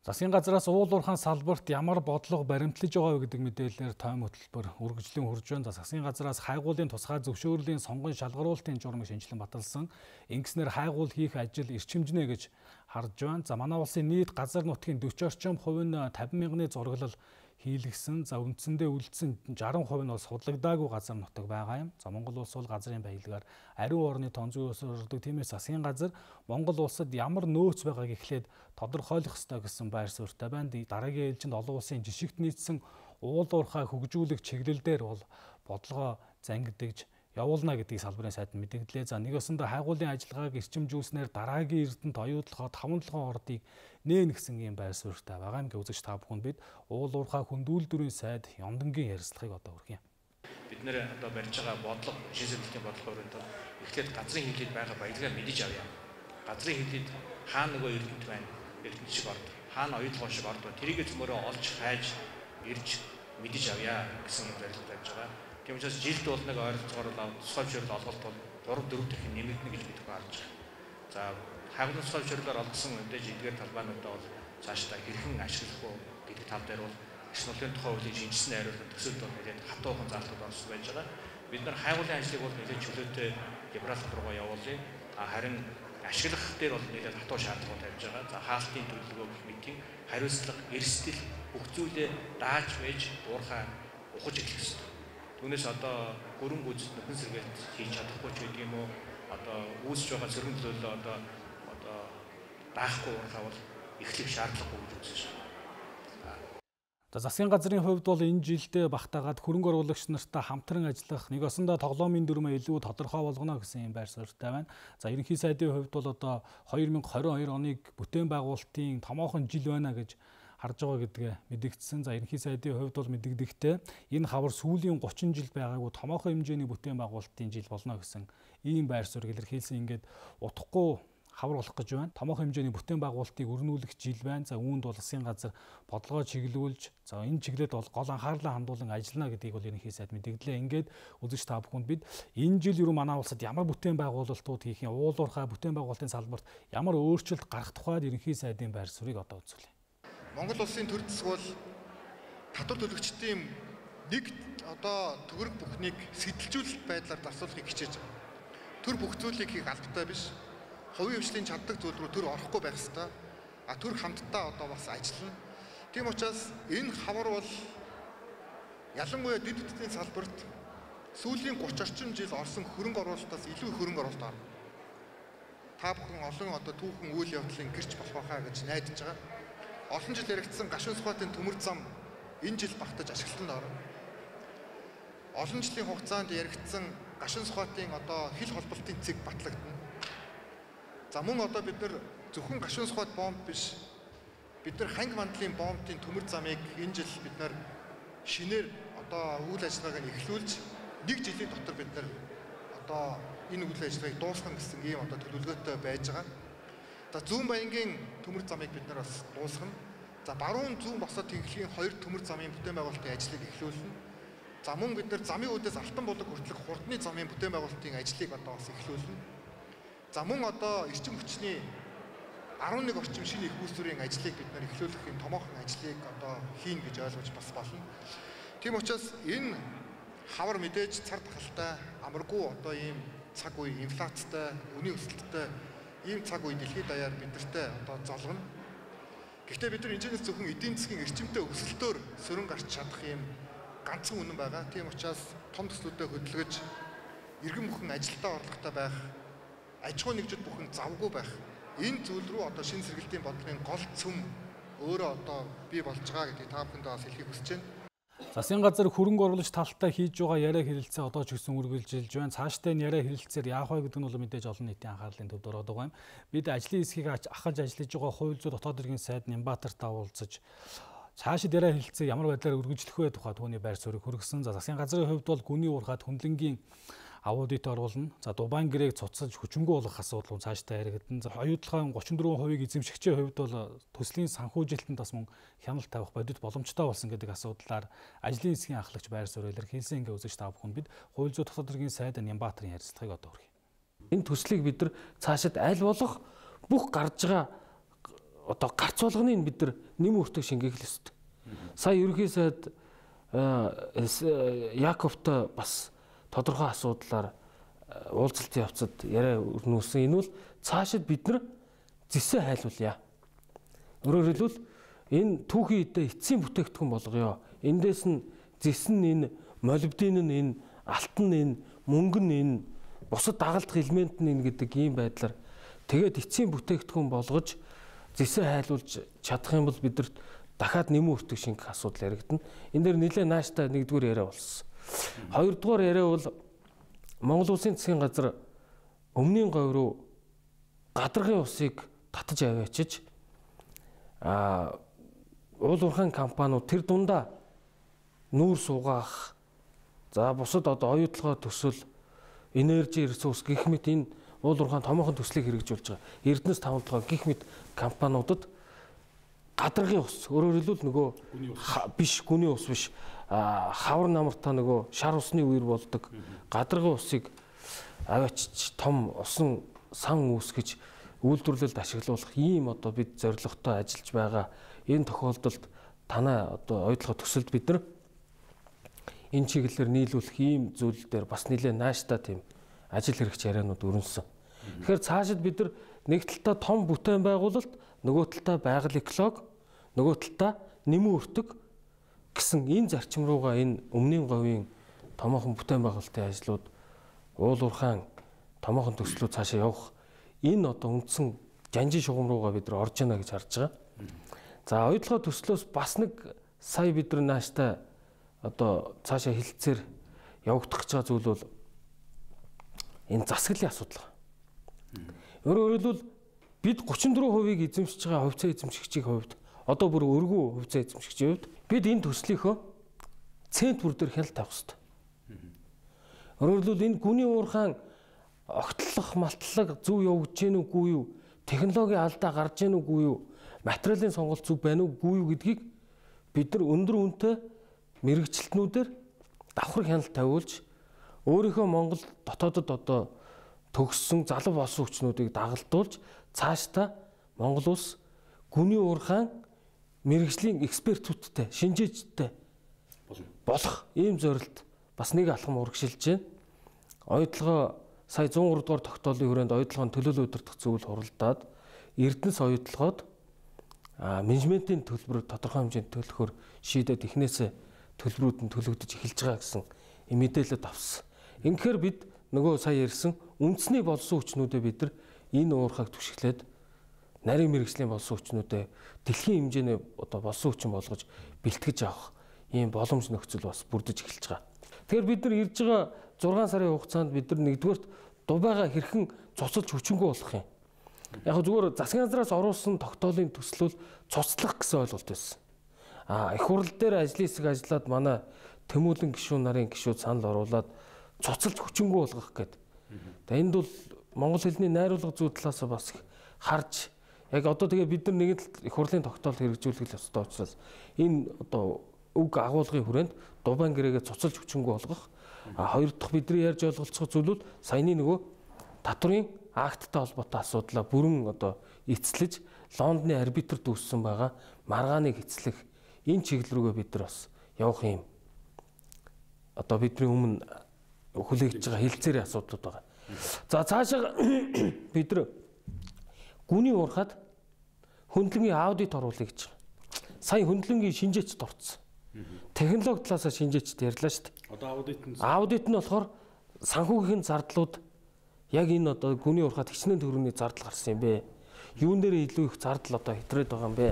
Засгийн газраас уул уурхайн салбарт ямар бодлого баримтлаж байгаа вэ гэдэг мэдээлэлээр тойм хөтөлбөр үргэлжлэн хурж байна. Засгийн газраас хайгуулын тусгай зөвшөөрлийн сонгон шалгаруулалтын журмыг шинжилэн баталсан. Ингэснээр хайгуул хийх ажил эрчимжнэ гэж харж байна. За манай улсын нийт газар нутгийн 40 орчим хувь нь 50 мянганы зураглал хийлгсэн. За үндсэндээ үлдсэн 60% нь бол судлагдаагүй газар нутаг байгаа юм. За Монгол улс бол газрын баялагаар ариун орны тон зүйс өргөдөг. Тиймээс засгийн газар Монгол улсад ямар нөөц байгааг эхлээд тодорхойлох ёстой гэсэн байр суурьтай байна. Дараагийн ээлжинд олон улсын жишгт нийцсэн уул уурхай хөгжүүлэх чиглэлээр бол бодлогоо зангидж явуулна гэдгийг салбарын сайд мэдгдлээ. За нэг өсөндө хайгуулын ажиллагааг эрчимжүүлснээр дараагийн эрдэнэт оюутлахад 5-7 ордыг нээн гэсэн юм байр суурьтай байгаа юм. Үзэгч та бүхэнд бид уул уурхай хөндүүлдвэрийн сайд Ёндонгийн ярилцлагыг одоо хүргье. Бид нэр одоо барьж байгаа бодлого, шин сэдвийн бодлогоор энэ эхлээд газрын хилээд байгаа баялагаа мэдэж авъя. Газрын хилээд хаана нөгөө эрдэнэт байна, эрдэнэт шиг орд, хаана оюутлах шиг орд, тэрийгэ цөмөрөө олж хайж ирж мэдэж авъя гэсэн юм зорилго тавьж байгаа. Тийм учраас жилд бол нэг ойролцоогоор тусгай зөвшөөрөл олголт бол 3-4 дахин нэмэгдэнэ гэж бид харж байгаа. За хайгуулын тусгай зөвшөөрлөөр олгосон мэдээж эдгээр талбайнуудаа бол цаашдаа хэрхэн ашиглах вэ гэдэг тал дээр бол эрс нутгийн тухай хуулийн шинжилсэн найруулгын төсөлд бол нэлээд хатуухан залтууд орсон байж байгаа. Бид нар хайгуулын ажлыг бол нэлээд чөлөөтэй либерал руугаа явуулъя. Харин ашиглах дээр бол нэлээд хатуу шаардлагууд тавьж байгаа. За хаалтын төлөвлөгөө гэх мэтийн хариуцлага, эрсдэл бүх зүйлээ дааж байж уурхай ухаж эхлэх ёстой. Түүнээс одоо гөрөн гүйцэд нөхөн сэргээлт хийж чадахгүй ч гэдэг юм уу, одоо үүсэж байгаа цэрэг төлөөлөл одоо даахгүй уурхай бол эхлэх шаардлагагүй гэж үзэж байна. Засгийн газрын хувьд бол энэ жилдээ багтаагаад хөрөнгө оруулагч нартай хамтран ажиллах, нэг осондоо тоглоомын дүрмээ илүү тодорхой болгоно гэсэн юм байр суурьтай байна. За ерөнхий сайдын хувьд бол одоо 2022 оныг бүтээн байгуулалтын томоохон жил байна гэж харж байгаа гэдгээ мэдэгдсэн. За ерөнхий сайдын хувьд бол мэдэгдэхтэй энэ хавар сүүлийн 30 жил байгаагүй томоохон хэмжээний бүтээн байгуулалтын жил болно гэсэн ийм байр суурийг илэрхийлсэн. Ингээд утгагүй хавар болох гэж байна. Томоохон хэмжээний бүтээн байгуулалтыг өрнүүлэх жил байна. За үүнд бол засгийн газар бодлогоо чиглүүлж, за энэ чиглэлд бол гол анхаарлаа хандуулан ажиллана гэдгийг бол ерөнхий сайд мэдээлээ. Ингээд үзэж та бүхэнд бид энэ жил ерөн манай улсад ямар бүтээн байгуулалтууд хийх юм, уулуурхай бүтээн байгуулалтын салбарт ямар өөрчлөлт гарах тухайд ерөнхий сайдын байр суурийг одоо үзүүлье. Монгол улсын төр засаг бол татвар төлөгчдийн нэг одоо төгрөг бүхнийг сэтэлжүүлэлт байдлаар зарцуулахыг хичээж байгаа. Төр бүх зүйлийг хийх албатай биш. Хувийн хвшлийн чаддаг зүйл рүү төр орохгүй байх ёстой. Төр хамтдаа одоо бас ажиллана. Тийм учраас энэ хавар бол ялангуяа дэд бүтцийн салбарт сүүлийн 30 орчим жил орсон хөрөнгө оруулалтаас илүү их хөрөнгө оруулалт орно. Та бүхэн олон одоо түүхэн үйл явдлын гэрч болох байхаа гэж найдаж байгаа. Олон жил яригдсан гашуун сухатын төмөр зам энэ жил багтаж ашиглалтанд орно. Олон жилийн хугацаанд яригдсан гашуун сухатын одоо хил холболтын цэг батлагдана. За мөн одоо бид нар зөвхөн гашуун сухат бомб биш, бид нар ханги мандлын бомбын төмөр замыг энэ жил бид нар шинээр одоо үйл ажиллагааг эхлүүлж 1 жилийн дотор бид нар одоо энэ үйл ажиллагааг дуусгах гэсэн ийм одоо төлөвлөгөөтэй байж байгаа. За зүүн баянгийн төмөр замыг бид нар бас дуусгана. За баруун зүүн босоод тэнхлийн 2 төмөр замын бүтээн байгуулалтын ажлыг эхлүүлнэ. За мөн бид нар замын үүдээс алтан булаг хүртэлх хурдны замын бүтээн байгуулалтын ажлыг одоо бас эхлүүлнэ. За мөн одоо эрчим хүчний 11 орчим шинэ их үүсвэрийн ажлыг бид нар эхлүүлэх юм томоохон ажлыг одоо хийн гэж ойлгож бас болно. Тийм учраас энэ хавар мэдээж цар тахалтай, амаргүй одоо ийм цаг үе инфляцтай, үнийн өсөлттэй ийм цаг үе дэлхийд даяар бидэртээ одоо золгоно. Гэхдээ бид нар энэчнээс зөвхөн эдийн засгийн эрчимтэй өсөлтөөр сөрөн гарч чадах ийм ганцхан үнэн байгаа. Тийм учраас том төслүүдэд хөдөлгөж иргэн бүхэн ажилдаа орлоготой байх, аж ахуй нэгжид бүхэн завгүй байх. Энэ зүйл рүү одоо шинэ сэргэлтийн бодлогын гол цөм өөрөө одоо бий болж байгаа гэдгийг та бүхэндээ бас хэлхийг хүсэж байна. Засгийн газар хөрөнгө оруулагч талтай хийж байгаа яриа хэлэлцээ одоо ч гэсэн үргэлжилж байна. Цаашдаа энэ яриа хэлэлцээр яах вэ гэдэг нь бол мэдээж олон нийтийн анхаарлын төвд ороод байгаа юм. Бид ажлын хэсгийг ахаж ажиллаж байгаа хувь зүйн дотоод иргэн сайд Нямбатартай уулзаж цаашид яриа хэлэлцээ ямар байдлаар үргэлжлэх вэ тухай түүний байр суурийг хүргэсэн. За засгийн газрын хувьд бол гүний уурхад хүндлэнгийн аудит оруулна. За Дубайн гэрээг цуцсаж хүчингү болгох асуудал цаашдаа яригдана. За оюутлахын 34% эзэмшигчийн хувьд бол төслийн санхүүжилтэнд бас мөн хяналт тавих бодит боломжтой болсон гэдэг асуудлаар ажлын хэсгийн ахлагч байр суурь илэрхийлсэн ингээ үзэж та бүхэн бид хууль зүйн дотоод иргэн сайд Нямбатрын ярилцлагыг одоо хүргэе. Энэ төслийг бид нар цаашид аль болох бүх гарч байгаа одоо гарц болгоныг бид нар нэм өртөг шингээх ёстой. Сая ерөнхий сайд Яковтой бас тодорхой асуудлаар уулзалтын явцад яриа өрнүүлсэн. Энэ бол цаашид бид нар зэсээ хайлуулъя. Өөрөөр хэлбэл энэ түүхийн үедээ эцсийн бүтээгдэхүүн болгоё. Эндээс нь зэс нь энэ, молибден нь энэ, алтан нь энэ, мөнгө нь энэ, бусад дагалдах элемент нь энэ гэдэг ийм байдлаар тэгээд эцсийн бүтээгдэхүүн болгож зэсээ хайлуулж чадах юм бол бидэрт дахиад нэмэн өртөг шингэх асуудал яригдана. Энэ дээр нэлээд нааштай нэгдүгээр яриа болсон. Хоёрдугаар яриа бол Монгол Улсын засгийн газар өмнгийн говь руу гадаргын усыг татаж аваачиж уул уурхайн компаниуд тэр дундаа нүүр суугаах, за бусад одоо оюутлогоо төсөл, энержи ресурс гэх мэт энэ уул уурхайн томоохон төслийг хэрэгжүүлж байгаа Эрдэнэс тавталгаа гэх мэт компаниудад гадаргын ус, өөрөөр хэлбэл нөгөө биш гүний ус биш, хавар намартаа нөгөө шар усны үер болдог гадаргын усыг аваачиж том усан сан үүсгэж үйлдвэрлэлд ашиглуулах ийм одоо бид зорилготой ажиллаж байгаа. Энэ тохиолдолд танай одоо оюутлогоо төсөлд бид нар энэ чиглэлээр нийлүүлэх ийм зүйл дээр бас нэлээд нааштай тийм ажил хэрэгч яриануд өрнөсөн. Тэгэхээр цаашид бид нар нэг талдаа том бүтээн байгуулалт, нөгөө талдаа байгаль эколог, нөгөө талдаа нэмэн өртөг гэсэн энэ зарчим руугаа энэ өмнгийн говийн томоохон бүтээн байгуулалтын ажлууд, уул уурхайн томоохон төслүүд цаашаа явах энэ одоо үндсэн жанжин шугам руугаа бид нар орж яана гэж харж байгаа. За оюутлогоо төслөөс бас нэг сая бид нар нааштай одоо цаашаа хилцээр явагдах гэж байгаа зүйл бол энэ засаглалын асуудал. Өөрөөр хэлбэл бид 34%-ийг эзэмшиж байгаа хувьцаа эзэмшигчийн хувьд одоо бүр өргөө хувьцаа эзэмшигчийн хувьд бид энэ төслийнхөө цент бүр дээр хяналт тавих хэрэгтэй. Өөрөөр хэлбэл энэ гүний уурхайн огтлох, малтлаг зөв явагдаж гэнэ үгүй юу? технологийн алдаа гарч ийн үгүй юу, материалын сонголт зүг байна уугүй юу гэдгийг бид нар өндөр үнэтэй мэрэгчлэтнүүдээр давхар хяналт тавиулж өөрийнхөө Монгол дотоодод одоо төгссөн залуу болсон хүчнүүдийг дагалдуулж цаашдаа Монгол улс гүний уурхайн мэрэгжлийн экспертүүдтэй, шинжээчдтэй болох ийм зорилт бас нэг алхам урагшилж байна. Оюутлогоо сая 103 дугаар тогтоолын хүрээнд оюутлогын төлөөлөл удирдах зөвлөл хуралдаад Эрдэнэс оюутлогоод менежментийн төлбөр тодорхой хэмжээнд төлөхөөр шийдээд эхнээсээ төлбөрүүд нь төлөгдөж эхэлж байгаа гэсэн мэдээлэлд авсан. Ингэхээр бид нөгөө сая ярьсан үндэсний болсон хүчнүүдэд бид нар энэ уурхайг түшиглээд нарийн мэрэгжлийн болсон хүчнүүдэд дэлхийн хэмжээний одоо болсон хүчин болгож бэлтгэж авах ийм боломж нөхцөл бас бүрдэж эхэлж байгаа. Тэгэхээр бид нар ирж байгаа 6 сарын хугацаанд бид нар нэгдүгээрт дубайгаа хэрхэн цуцалж хүчингүй болох юм. Яг зүгээр засгийн газраас оруулсан тогтоолын төсөл бол цуцлах гэсэн ойлголт байсан. Их хурл дээр ажлын хэсэг ажиллаад манай Тэмүүлэн гишүүн нарын гишүүд санал оруулаад цуцалж хүчингүй болгох гэдэг. Тэгээ энд бол монгол хэлний найруулга зүй талаас бас харж яг одоо тэгээ бид нар нэг л их хурлын тогтоол хэрэгжүүлэх ёстой учраас энэ одоо үг агуулгын хүрээнд Дубайн гэрээгээ цуцалж хүчингүй болгох. Хоёр дахь бидний ярьж ойлголцох зүйл бол саяны нөгөө татврын акттай холбоотой асуудлаа бүрэн одоо эцэлж Лондоны арбитр дүүссэн байгаа маргааныг эцлэх энэ чиглэл рүүгээ бид нар бас явах юм. Одоо бидний өмнө хүлээгдэж байгаа хилцээрийн асуудлууд байгаа. За цаашаа бид нар гүний уурхад хөндлөнгийн аудит оруулъя гэж байгаа. Сая хөндлөнгийн шинжээчд орцсон. Технологи талаас шинжээчд ярьлаа шүү дээ. Одоо аудит нь болохоор санхүүгийн зардлууд яг энэ одоо гүний уурхад хичнээн төгрөгийн зардал гарсан юм бэ? Юун дээр илүү их зардал одоо хэтрээд байгаа юм бэ?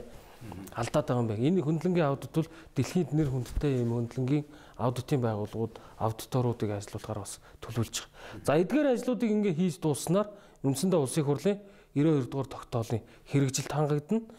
Алдаад байгаа юм бэ? Энэ хөндлөнгийн аудит бол дэлхийд нэр хүндтэй юм хөндлөнгийн аудитын байгууллагууд аудиторуудыг ажилуулахаар бас төлөвлөж байгаа. За эдгээр ажлуудыг ингээ хийж дууснаар үндсэндээ улсын хурлын 92 дугаар тогтоолын хэрэгжилт хангагдана.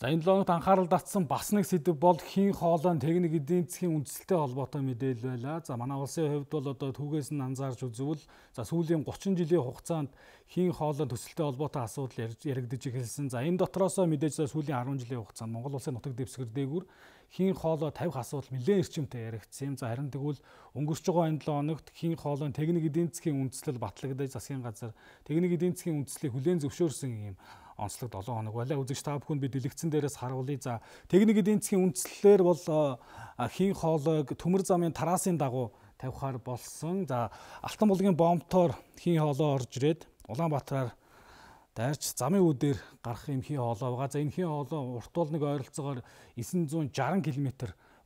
За энэ логт анхаарал татсан бас нэг сэдв бол хийн хоолойн техник эдийн засгийн үндэслэлтэй холбоотой мэдээлэл байлаа. За манай улсын хувьд бол одоо түүгээс нь анзаарч үзвэл за сүүлийн 30 жилийн хугацаанд хийн хоолойн төсөлтэй холбоотой асуудал яригдж эхэлсэн. За энэ дотроос мэдээж сүүлийн 10 жилийн хугацаанд Монгол улсын нутаг дэвсгэр дээгүүр хийн хоолой тавих асуудал нэлээд эрчимтэй яригдсан юм. За харин тэгвэл өнгөрч байгаа энэ 7 хоногт хийн хоолойн техник эдийн засгийн үндэслэл батлагдаж засгийн газар техник эдийн засгийн үндэслэлийг хүлээн зөвшөөрсөн юм онцлог 7 хоног байлаа. Үзэгч та бүхэнд би дэлгэцэн дээрээс харуулъя. За техник эдийн засгийн үндэслэлээр бол хийн хоолойг төмөр замын тараасын дагуу тавихаар болсон. За Алтан булгийн бомбтоор хийн хоолой орж ирээд Улаанбаатараар дайрч замын үүдээр гарах юм хийн хоолой байгаа. За энэ хийн хоолой урт бол нэг ойролцоогоор 960 км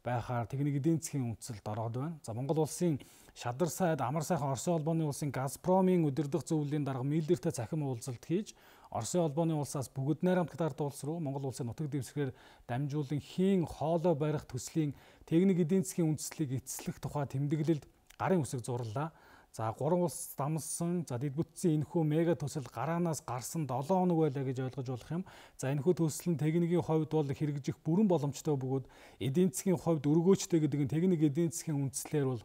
байхаар техник эдийн засгийн үндэслэлд ороод байна. За Монгол улсын Шадар сайд амар сайхан Оросын холбооны улсын Газпромын удирдах зөвлөлийн дарга миллиардтай цахим уулзалт хийж Оросын холбооны улсаас бүгд найрамдагт ард улс руу Монгол улсын нутаг дэвсгэрээр дамжуулан хийн хоолой барих төслийн техник эдийн засгийн үндэслэлийг эцэслэх тухай тэмдэглэлд гарын үсэг зурлаа. За 3 улс дамсан, за дэд бүтцийн энэхүү мега төсөл гараанаас гарсан 7 хоног байлаа гэж ойлгож болох юм. За энэхүү төсөл нь техникийн хувьд бол хэрэгжих бүрэн боломжтой бөгөөд эдийн засгийн хувьд өргөөжтэй гэдэг нь техник эдийн засгийн үндэслэлээр бол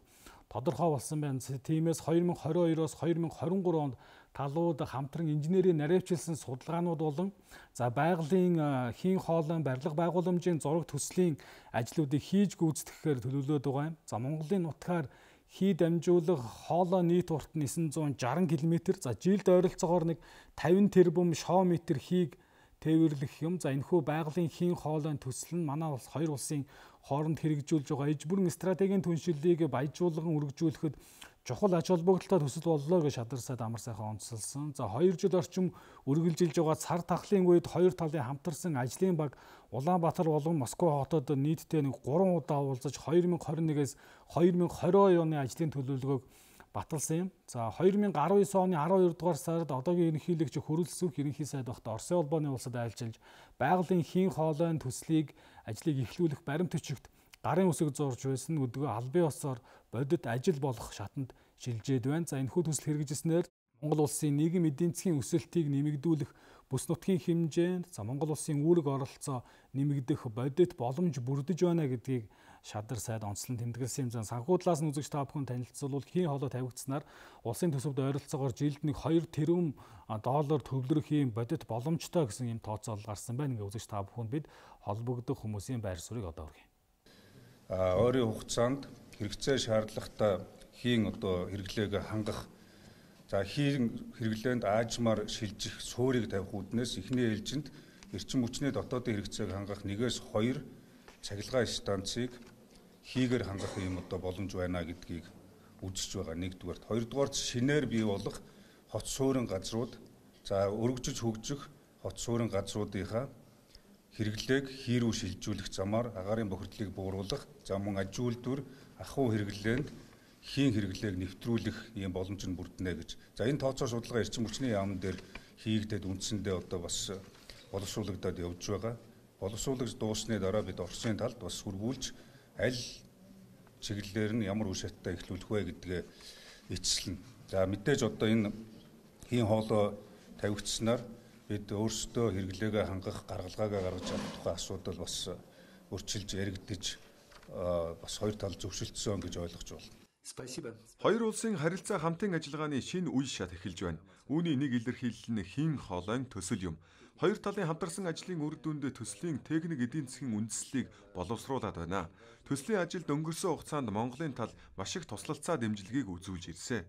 тодорхой болсон байна. Тиймээс 2022-оос 2023 онд талууд хамтран инженерийн наривчилсан судалгаанууд болон за байгалийн хийн хоолойн барилга байгууламжийн зураг төслийн ажлуудыг хийж гүйцэтгэхээр төлөвлөд байгаа юм. За Монголын нутгаар хий дамжуулах хоолой нийт урт нь 960 км. За жилд ойролцоогоор нэг 50 тэрбум шоо метр хийг тээвэрлэх юм. За энэхүү байгалийн хийн хоолойн төсөл нь манай улс хоёр улсын хооронд хэрэгжүүлж байгаа эж бүрэн стратегийн түншлэлийг баяжуулан үргэлжлүүлэхэд чухал ач холбогдолтой төсөл боллоо гэж Шадар сайд амар сайхан онцлсан. За 2 жил орчим үргэлжилж байгаа цар тахлын үед хоёр талын хамтарсан ажлын баг Улаанбаатар болон Москва хотод нийтдээ нэг 3 удаа уулзаж 2021-ээс 2020 оны ажлын төлөвлөгөөг баталсан юм. За 2019 оны 12 дугаар сард одоогийн ерөнхийлөгч хөрөлсөх ерөнхий сайд багт Оросын холбооны улсад айлчилж байгалийн хийн хоолойн төслийг ажлыг эхлүүлэх баримт өчигт гарын үсэг зурж байсан өдгөө албан ёсоор бодит ажил болох шатанд шилжээд байна. За энэхүү төсөл хэрэгжсэнээр Монгол улсын нийгэм эдийн засгийн өсөлтийг нэмэгдүүлэх бүс нутгийн хэмжээнд за Монгол улсын үүрэг оролцоо нэмэгдэх бодит боломж бүрдэж байна гэдгийг шадар сайд онцлон тэмдэглэсэн юм зан санхүү талаас нь үзэгч та бүхэн танилцуулбал хийн хоолой тавигдсанаар улсын төсөвд ойролцоогоор жилд нэг 2 тэрбум доллар төвлөрөх юм бодит боломжтой гэсэн юм тооцоолол гарсан байна. Ингээ үзэгч та бүхэнд бид холбогдох хүмүүсийн байр суурийг одоо хүргэе. Ойрын хугацаанд хэрэгцээ шаардлагатай хийн одоо хэрэглээг хангах хийн хэрэглээнд аажмаар шилжих суурийг тавих үүднээс эхний ээлжинд эрчим хүчний дотоодын хэрэгцээг хангах 1-2 цахилгаан станцыг хийгээр хангах юм одоо боломж байна гэдгийг үзэж байгаа нэгдүгээр. Хоёрдугаар шинээр бий болох хот суурин газрууд өргөжж хөгжих хот суурин газруудынхаа хэрэглээг хий рүү шилжүүлэх замаар агаарын бохирдлыг бууруулах, мөн аж үйлдвэр ахуй хэрэглээнд хийн хэрэглээг нэвтрүүлэх ийм боломж нь бүрднэ гэж. Энэ тооцоо судалгаа эрчим хүчний яамн дээр хийгдээд үндсэндээ одоо бас боловсруулагдаад явж байгаа. Боловсруулагч дуусны дараа бид Оросын талд бас хүргүүлж аль чиглэлээр нь ямар үе шаттай эхлүүлэх вэ гэдгээ эцэслэнэ. Мэдээж одоо энэ хийн хоолой тавигдсанаар бид өөрсдөө хэрэглээгээ хангах гаргалгаагаа гаргаж авах тухай асуудал бас өрчилж яригдж бас хоёр тал зөвшөлдсөн гэж ойлгож байна. Хоёр улсын харилцаа хамтын ажиллагааны шинэ үе шат эхэлж байна. Үүний нэг илэрхийлэл нь хийн хоолойн төсөл юм. Хоёр талын хамтарсан ажлын үр дүнд төслийн техник эдийн засгийн үндэслэлийг боловсруулад байна. Төслийн ажилд өнгөрсөн хугацаанд Монголын тал маш их туслалцаа дэмжлэгийг үзүүлж ирсэн.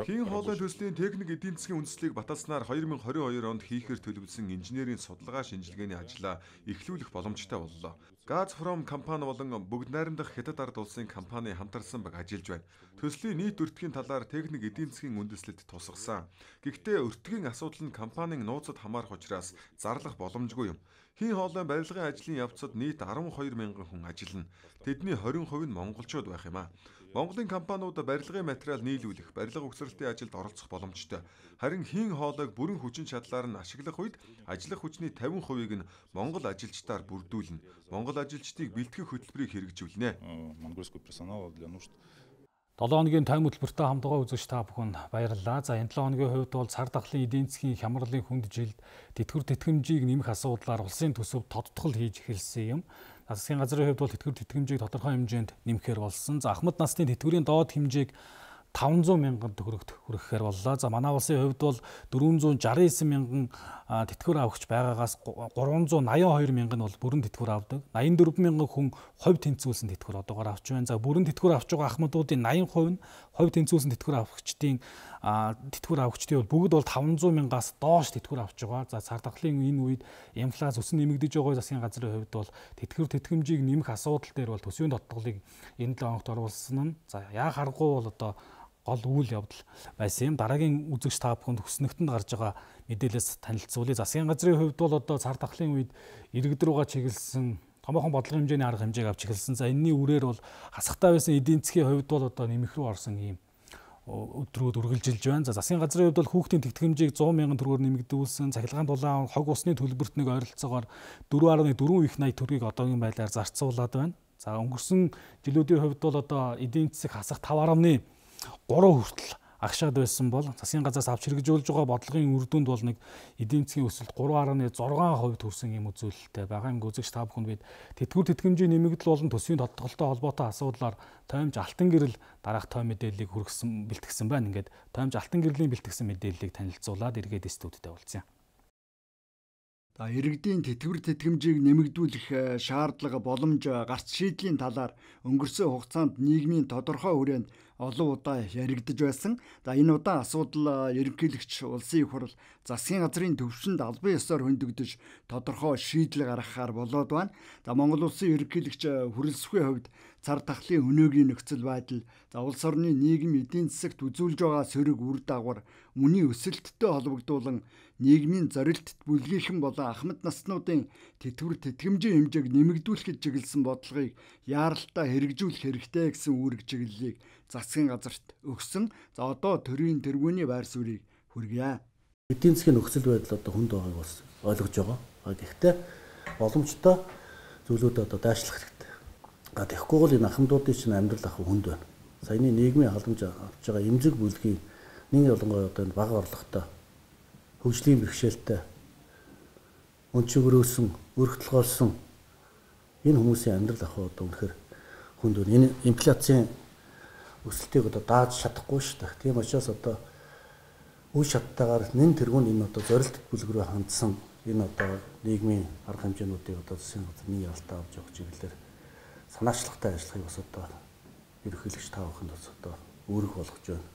Хийн хоолой төслийн техник эдийн засгийн үндэслэлийг баталснаар 2022 онд хийхээр төлөвлөсөн инженерийн судалгаа шинжилгээний ажлаа эхлүүлэх боломжтой боллоо. Газпром компани болон бүгд найрамдах Хятад ард улсын компани хамтарсан баг ажиллаж байна. Төслийн нийт өртгийн талаар техник эдийн засгийн үндэслэлд тусгасан. Гэхдээ өртгийн асуудал нь компанийн нууцад хамаарах учраас зарлах боломжгүй юм. Хийн хоолойн барилгын ажлын явцад нийт 12 мянган хүн ажиллана. Тэдний 20% нь монголчууд байх юм а. Монголын компаниуд барилгын материал нийлүүлэх, барилга угсралтын ажилд оролцох боломжтой. Харин хийн хоолойг бүрэн хүчин чадлаар нь ашиглах үед ажиллах хүчний 50%-ийг нь монгол ажилчдаар бүрдүүлнэ. Монгол ажилчдыг бэлтгэх хөтөлбөрийг хэрэгжүүлнэ. 7 хоногийн тойм хөтөлбөртэй хамтдаа үзэгч та бүхэнд баярлалаа. Энэ 7 хоногийн хувьд бол цар тахлын эдийн засгийн хямралын хүнд жилд тэтгэвэр тэтгэмжийг нэмэх асуудлаар улсын төсөв тодтгол хийж эхэлсэн юм. Засгийн газрын хувьд бол тэтгэвэр тэтгэмжийг тодорхой хэмжээнд нэмэхээр болсон. Ахмад насны тэтгэврийн доод хэмжээг 500 мянган төгрөгт хүрэхээр боллоо. Манай улсын хувьд бол 469 мянган тэтгэвэр авагч байгаагаас 382 мянган нь бол бүрэн тэтгэвэр авдаг. 84 мянган хүн хувь тэнцвүүлсэн тэтгэвэр одоогоор авч байна. Бүрэн тэтгэвэр авч байгаа ахмадуудын 80% нь хувь тэнцвүүлсэн тэтгэвэр авагчдын бол бүгд бол 500 мянгаас доош тэтгэвэр авч байгаа. Цар тахлын энэ үед инфляц өсөн нэмэгдэж байгаа засгийн газрын хувьд бол тэтгэвэр тэтгэмжийг нэмэх асуудал дээр бол төсвийн тодтголыг энэ 7 хоногт оруулсан нь яа харахгүй бол одоо гол үйл явдал байсан юм. Дараагийн үзэгч та бүхэнд хүснэгтэнд гарч байгаа мэдээлэлээс танилцуулъя. Засгийн газрын хувьд бол одоо цар тахлын үед иргэд рүүгээ чиглэсэн томоохон бодлогын хэмжээний арга хэмжээг авч эхэлсэн. Энэний үрээр бол хасахтай байсан эдийн засгийн хувьд бол одоо нэмэх рүү орсон юм өдрүүд үргэлжилж байна. Засгийн газрын хувьд бол хүүхдийн тэтгэмжийг 100 мянган төгрөгөөр нэмэгдүүлсэн. Цахилгаан дулаан хог усны төлбөрт нэг ойролцоогоор 4.4 их 80 төгрөгийг одоогийн байдлаар зарцуулаад байна. Өнгөрсөн жилүүдийн хувьд бол одоо эдийн засаг хасах 5.3 хүртэл агшаад байсан бол засгийн газраас авч хэрэгжүүлж байгаа бодлогын үр дүнд бол нэг эдийн засгийн өсөлт 3.6% төрсэн юм үзүүлэлттэй байгаа. Үзэгч та бүхэнд бид тэтгэвэр тэтгэмжийн нэмэгдэл болон төсвийн тодтголтой холбоотой асуудлаар тоймж алтан гэрэл дараах той мэдээллийг бэлтгэсэн байна. Ингээд тоймж алтан гэрлийн бэлтгэсэн мэдээллийг танилцуулаад эргээд студидтэй уулзъя. Иргэдийн тэтгэвэр тэтгэмжийг нэмэгдүүлэх шаардлага боломж гарц шийдлийн талаар өнгөрсөн хугацаанд нийгмийн тодорхой хүрээнд олон удаа яригдж байсан. Энэ удаа асуудал ерөнхийлөгч улсын их хурл засгийн газрын төвшөнд албан ёсоор хөндөгдөж тодорхой шийдэл гаргахаар болоод байна. Монгол улсын ерөнхийлөгч хүрэлцэхүйн хувьд цар тахлын өнөөгийн нөхцөл байдал, улс орны нийгэм эдийн засагт үзүүлж байгаа сөрөг үр дагавар, мөний өсөлттэй холбогдуулан нийгмийн зорилтт бүлгийхэн болон ахмад наснуудын тэтгэвэр тэтгэмжийн хэмжээг нэмэгдүүлэхэд чиглэсэн бодлогыг яаралтай хэрэгжүүлэх хэрэгтэй гэсэн үүрэг чиглэлийг засгийн газарт өгсөн. Одоо төрийн тэргүүний байр суурийг хүргье. Эдийн засгийн нөхцөл байдал одоо хүнд байгааг бас ойлгож байгаа. Гэхдээ боломжтой зүйлүүд одоо дайшлах хэрэгтэй. Тэгэхгүй бол энэ ахмадуудын чинь амьдрал ах хүнд байна. Саяны нийгмийн халамж авч байгаа эмзэг бүлгийн нэг ялангуяа одоо энэ бага орлоготой хөгжлийн бэрхшээлтэй өнчигрөөсөн, өргөдөлгөөлсөн Энэ хүмүүсийн амьдрал ах одоо үнэхээр хүнд байна. Энэ инфляцийн өсөлтийг одоо дааж чадахгүй шүү дээ. Тийм учраас одоо үе шаттайгаар нэн тэргүүнд энэ одоо зорилт бүлэг рүү хандсан энэ одоо нийгмийн арга хэмжээнүүдийг одоо засгийн газар нэг ялтаа авч явах чиглэлээр санаачлагтай ажиллахыг бас одоо ерөнхийлөгч та бүхэнд бас одоо үүрэг болгож байна.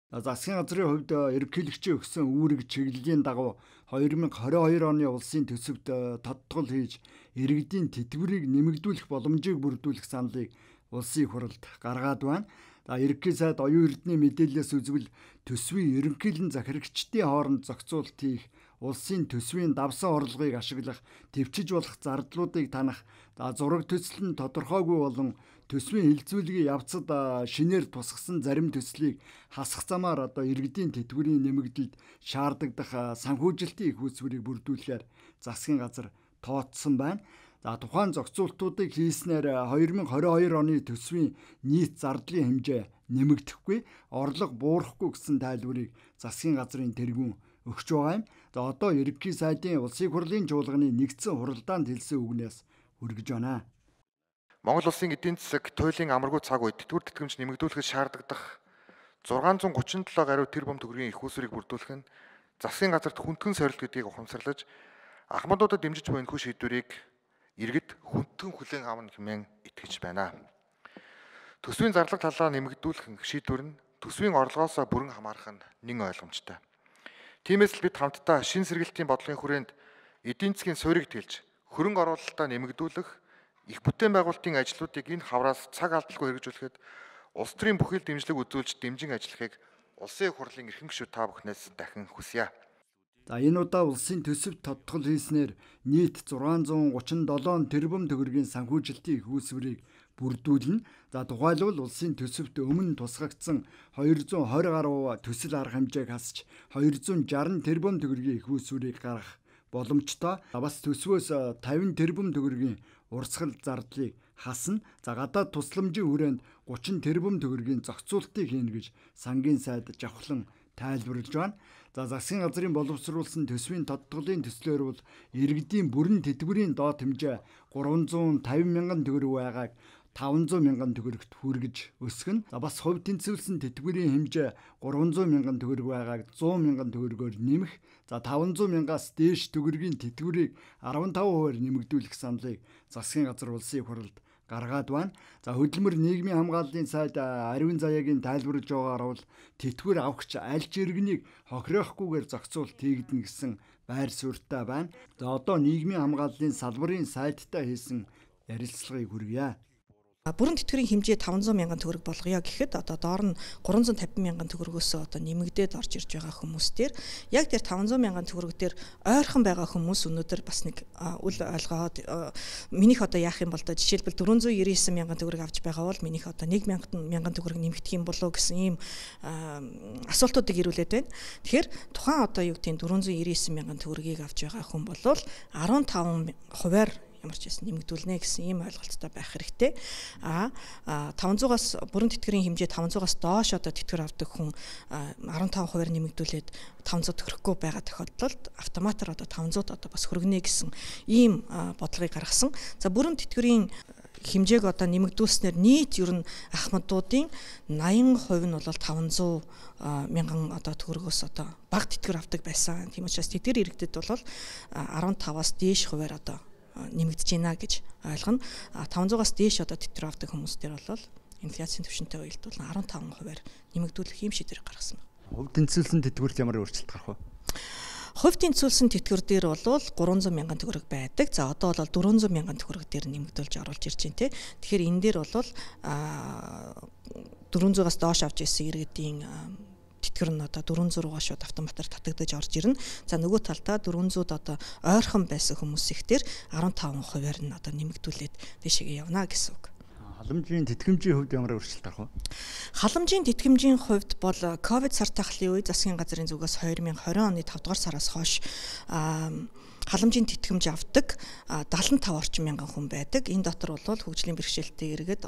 Засгийн газрын хувьд ерөнхийлөгчийн өгсөн үүрэг чиглэлийн дагуу 2022 оны улсын төсөвт тодтгол хийж иргэдийн тэтгэврийг нэмэгдүүлэх боломжийг бүрдүүлэх саналыг улсын их хурлд гаргаад байна. Ерөнхий сайд оюун эрдэнэ мэдээлэлээс үзвэл төсвийн ерөнхийлөн захирагчдын хооронд зохицуулалт хийх, улсын төсвийн давсан орлогыг ашиглах, төвчж болох зардлуудыг танах, зураг төсөл нь тодорхойгүй болон төсвийн хилцүүлгийн явцад шинээр тусгасан зарим төслийг хасах замаар одоо иргэдийн тэтгэврийн нэмэгдэлд шаардагдах санхүүжилтийн их үүсвэрийг бүрдүүлэхээр засгийн газар тооцсон байна. Тухайн зохицуултуудыг хийснээр 2022 оны төсвийн нийт зардлын хэмжээ нэмэгдэхгүй, орлого буурахгүй гэсэн тайлбарыг засгийн газрын тэргүүн өгч байгаа юм. Одоо ерөнхий сайдын улсын хурлын чуулганы нэгдсэн хуралдаанд хэлсэн үгнээс хүргэж байна. Монгол улсын эдийн засаг туйлын амаргүй цаг үед тэтгэвэр тэтгэмж нэмэгдүүлэхэд шаардлагадах 637 гаруй тэрбум төгрөгийн их үүсвэрийг бүрдүүлэх нь засгийн газарт хүндхэн сорилт гэдгийг ухамсарлаж ахмадуудад дэмжиж буй энэхүү шийдвэрийг иргэд хүндхэн хүлээн авна хэмээн итгэж байна. Төсвийн зарлага талаа нэмэгдүүлэх шийдвэр нь төсвийн орлогоос бүрэн хамаарах нь нэн ойлгомжтой. Тиймээс л бид хамтдаа шин сэргэлтийн бодлогын хүрээнд эдийн засгийн суурийг тэлж хөрөнгө оруулалтаа нэмэгдүүлэх, их бүтээн байгуулалтын ажлуудыг энэ хавраас цаг алдалгүй хэрэгжүүлэхэд улс төрийн бүхэл дэмжлэг үзүүлж дэмжин ажиллахыг улсын их хурлын эрхэм гишүүд та бүхнээс дахин хүсье. Энэ удаа улсын төсөвт тодтгол хийснээр нийт 637 тэрбум төгрөгийн санхүүжилтийн их үүсвэрийг бүрдүүлнэ. Тухайлбал улсын төсөвт өмнө тусгагдсан 220 гаруй төсөл арга хэмжээг хасч 260 тэрбум төгрөгийн их үүсвэрийг гаргах боломжтой. Бас төсвөөс 50 тэрбум төгрөгийн урсгал зардлыг хасна. Гадаад тусламжийн хүрээнд 30 тэрбум төгрөгийн зохицуултыг хийнэ гэж сангийн сайд жавхлан тайлбарлаж байна. Засгийн газрын боловсруулсан төсвийн тодтголын төслөөр бол иргэдийн бүрэн тэтгэврийн доод хэмжээ 350 мянган төгрөг байгааг 500 мянган төгрөгт хүргэж өсгөн. Бас хувь тэнцвэрсэн тэтгэврийн хэмжээ 300 мянган төгрөг байгааг 100 мянган төгрөгөөр нэмэх. 500 мянгаас дээш төгрөгийн тэтгэврийг 15% нэмэгдүүлэх саналыг засгийн газар улсын их хурлд гаргаад байна. Хөдөлмөр нийгмийн хамгааллын сайд Аривын Заяагийн тайлбарлаж байгаагаар бол тэтгэвэр авахч аль ч иргэнийг хохирохгүйгээр зохицуулт хийгдэнэ гэсэн байр суурьтай байна. Одоо нийгмийн хамгааллын салбарын сайдтай хийсэн ярилцлагыг хүргье. Бүрэн тэтгэврийн хэмжээ 500 мянган төгрөг болгоё гэхэд одоо доор нь 350 мянган төгрөгөөс одоо нэмэгдээд орж ирж байгаа хүмүүстээр яг тэр 500 мянган төгрөг дээр ойрхон байгаа хүмүүс өнөөдөр бас нэг үл ойлгоод минийх одоо яах юм бол доо жишээлбэл 499 мянган төгрөг авч байгаа бол минийх одоо 1 мянган төгрөг нэмэгдэх юм болов гэсэн ийм асуултуудыг ирүүлээд байна. Тэгэхээр тухайн одоо юу гэдэг 499 мянган төгрөгийг авч байгаа хүн бол 15%-аар ямар ч байсан нэмэгдүүлнэ гэсэн ийм ойлголттой байх хэрэгтэй. 500-аас бүрэн тэтгэврийн хэмжээ 500-аас доош одоо тэтгэвэр авдаг хүн 15%-аар нэмэгдүүлээд 500 төгрөхгүй байгаа тохиолдолд автоматар одоо 500-д одоо бас хөргөнэ гэсэн ийм бодлогыг гаргасан. За бүрэн тэтгэврийн хэмжээг одоо нэмэгдүүлснээр нийт ер нь ахмадуудын 80% нь бол 500 мянган одоо төгрөгөөс одоо бага тэтгэвэр авдаг байсан. Тийм учраас тэтгэр иргэдэд бол 15-аас дээш хувиар одоо нэмэгдэж байна гэж ойлгоно. 500-аас дээш одоо тэтгэвэр авдаг хүмүүстээр бол инфляцийн түвшинтэй уялдвал 15%-аар нэмэгдүүлэх юм шийдвэр гаргасан байна. Хувь тэнцвэрсэн тэтгэврт ямар өөрчлөлт гарах вэ? Хувь тэнцвэрсэн тэтгэвэр дээр бол 300 мянган төгрөг байдаг. За одоо бол 400 мянган төгрөг дээр нэмэгдүүлж оруулж ирж байна те. Тэгэхээр энэ дээр бол 400-аас доош авч ирсэн иргэдийн тэтгэвэр нь одоо 400 руугаа шууд автоматар татагдаж орж ирнэ. За нөгөө талдаа 400-д одоо ойрхон байсан хүмүүс ихтер 15%-аар нь одоо нэмэгдүүлээд дэшегээ явна гэсэн үг. Халамжийн тэтгэмжийн хувьд ямар өөрчлөлт гарах вэ? Халамжийн тэтгэмжийн хувьд бол ковид сар тахлын үе засгийн газрын зүгээс 2020 оны 5 дугаар сараас хойш халамжийн тэтгэмж авдаг 75 орчим мянган хүн байдаг. Энэ дотор бол хөгжлийн бэрхшээлтэй иргэд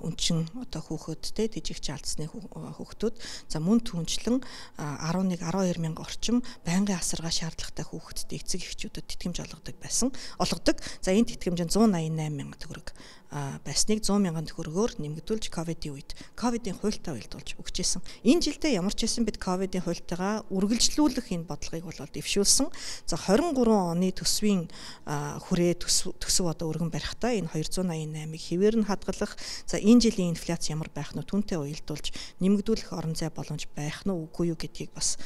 өнчин хүүхэдтэй жижигч алдсны хүүхдүүд за мөн түнчлэн 11-12 мянган орчим байнгын асаргаа шаардлагатай хүүхэдтэй эцэг эхчүүдэд тэтгэмж олгодог. За энэ тэтгэмж нь 188 мянган төгрөг байсныг 100 мянган төгрөгөөр нэмэгдүүлж ковидын үед ковидын хуультай уялдуулж өгчээсэн. Энэ жилдээ ямар ч байсан бид ковидын хуультайгаа үргэлжлүүлэх энэ бодлогыг бол дэвшүүлсэн. За 23 оны төсвийн хүрээ төсөв өргөн барихтаа энэ 288-ыг хэвээр нь хадгалах. За энэ жилийн инфляц ямар байх нь түүнтэй уялдуулж нэмэгдүүлэх орон зай боломж байх нь үгүй юу гэдгийг бас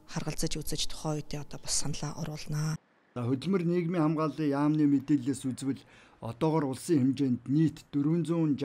харгалзаж үзэж тухайн үедээ бас саналаа оруулнаа. За хөдөлмөр нийгмийн хамгааллын яамны мэдээлэлээс үзвэл одоогоор улсын хэмжээнд нийт 461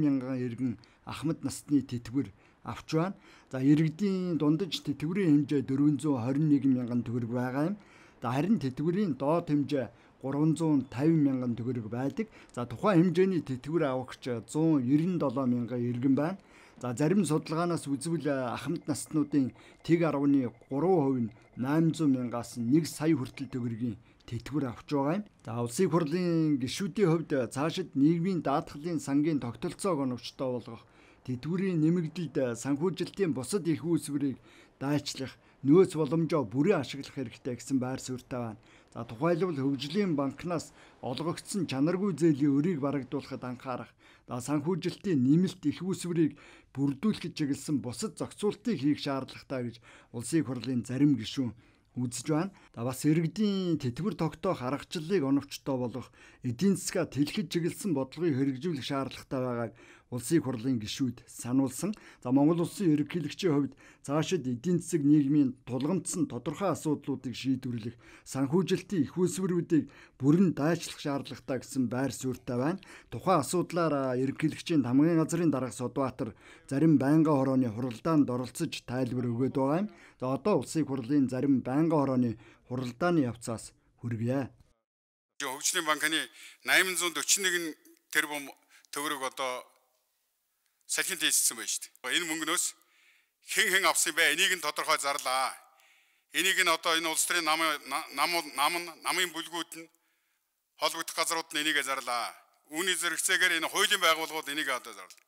мянган иргэн ахмад насны тэтгэвэр авч байна. За иргэдийн дундаж тэтгэврийн хэмжээ 421 мянган төгрөг байгаа юм. Харин тэтгэврийн доод хэмжээ 350 мянган төгрөг байдаг. За тухайн хэмжээний тэтгэвэр авагч 197 мянган иргэн байна. За зарим судалгаанаас үзвэл ахмад наснуудын тэг 10-ны 3% нь 800 мянгаас 1 сая хүртэл төгрөгийн тэтгэвэр авч байгаа юм. За улсын хурлын гишүүдийн хувьд цаашид нийгмийн даатгалын сангийн тогтолцоог оновчтой болгох, тэтгэврийн нэмэгдэлд санхүүжилтийн бусад их үүсвэрийг дайчлах, нөөц боломжоо бүрэн ашиглах хэрэгтэй гэсэн байр суурьтай байна. За тухайлбал хөгжлийн банкнаас олгогдсон чанаргүй зээлийн өрийг барагдуулахад анхаарах, санхүүжилтийн нэмэлт их үүсвэрийг бүрдүүлэхэд чиглэсэн бусад зохицуултыг хийх шаардлагатай гэж улсын хурлын зарим гишүүн үзэж байна. Бас иргэдийн тэтгэвэр тогтоох аргачлалыг оновчтой болгох, эдийн засгаа тэлхэд чиглэсэн бодлогыг хэрэгжүүлэх шаардлагатай байгааг улсын хурлын гишүүд сануулсан. За Монгол улсын ерөнхийлөгчийн хувьд цаашид эдийн засаг нийгмийн тулгамдсан тодорхой асуудлуудыг шийдвэрлэх, санхүүжилтийн их үүсвэрүүдийг бүрэн дайчлах шаардлагатай гэсэн байр суурьтай байна. Тухайн асуудлаар ерөнхийлөгчийн хамгийн газрын дарга Содбаатар зарим байнгын хорооны хуралдаанд оролцож тайлбар өгöd байгаа юм. За одоо улсын хурлын зарим байнгын хорооны хуралдааны явцаас хүргье. Хөгжлийн банкны 841 тэрбум төгрөг одоо салхинд хийсэн байна шүү дээ. Энэ мөнгнөөс хэн авсан бэ? Энийг нь тодорхой зарлаа. Энийг нь одоо энэ улс төрийн намын бүлгүүд нь холбогдох газрууд нь энийг зарлаа. Үүний зэрэгцээгээр энэ хуулийн байгууллагууд энийг одоо зарлаа.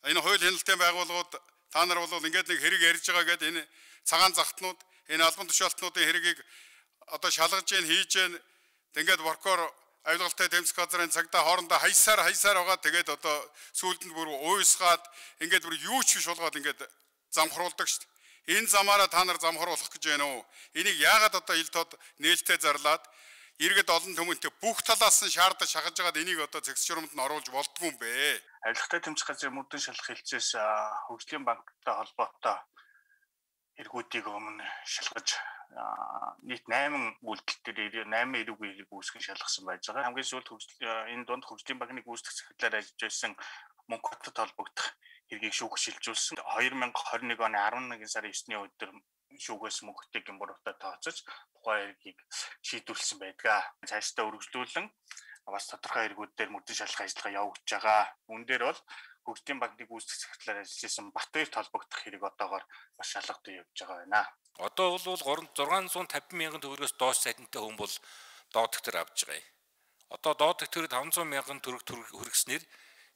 Энэ хууль хяналтын байгууллагууд та нар бол ингээд нэг хэрэг ярьж байгаа гэдэг энэ цагаан захтнууд энэ албан тушаалтнуудын хэргийг одоо шалгаж гэн хийж гэн ингээд воркоор авилгалтай тэмцэх газрын цагдаа хоорондоо хаясаар байгаа. Тэгээд одоо сүүлд нь бүр уйсгаад ингээд бүр юу ч биш болгоод ингээд замхруулдаг шүү дээ. Энэ замаараа та нар замхруулах гэж байна уу? Энийг яагаад одоо ил тод нээлттэй зарлаад иргэд олон түмэнтэй бүх талаас нь шаардаж шахаж байгаад энийг одоо зэгс журамд нь оруулж болдгүй юм бэ? Авилгалтай тэмцэх газрын мөрдөн шалгах хэлцээс хөгжлийн банктай холбоотой эргүүдийг өмнө шалгаж нийт 8 үйлдэл дээр 8 эрэг үйлийг үүсгэн шалгасан байж байгаа. Хамгийн сүүлд энэ донд хөгжлийн банкны гүйцэтгэх захидлаар ажиллаж байсан мөнгө хотод холбогдох хэргийг шүүх шилжүүлсэн. 2021 оны 11 сарын 9-ний өдөр шүүгээс мөнгөтэй гэмбуруутай тооцож тухайн хэргийг шийдвэрлсэн байдаг. Цаашдаа үргэлжлүүлэн бас тодорхой эргүүд дээр мөрдөн шалгах ажиллагаа явагдаж байгаа. Үүн дээр бол хөгжлийн банкны гүйцэтгэх захидлаар ажиллаж байсан Батбаярт холбогдох хэрэг одоогоор бас шалгагдаж явж байгаа байна. Одоо бол 650 мянган төгрөгөөс доош цалинтай хүн бол доод төгтөр авж байгаа юм. Одоо доод төгтөр 500 мянган төгрөг хүргэснээр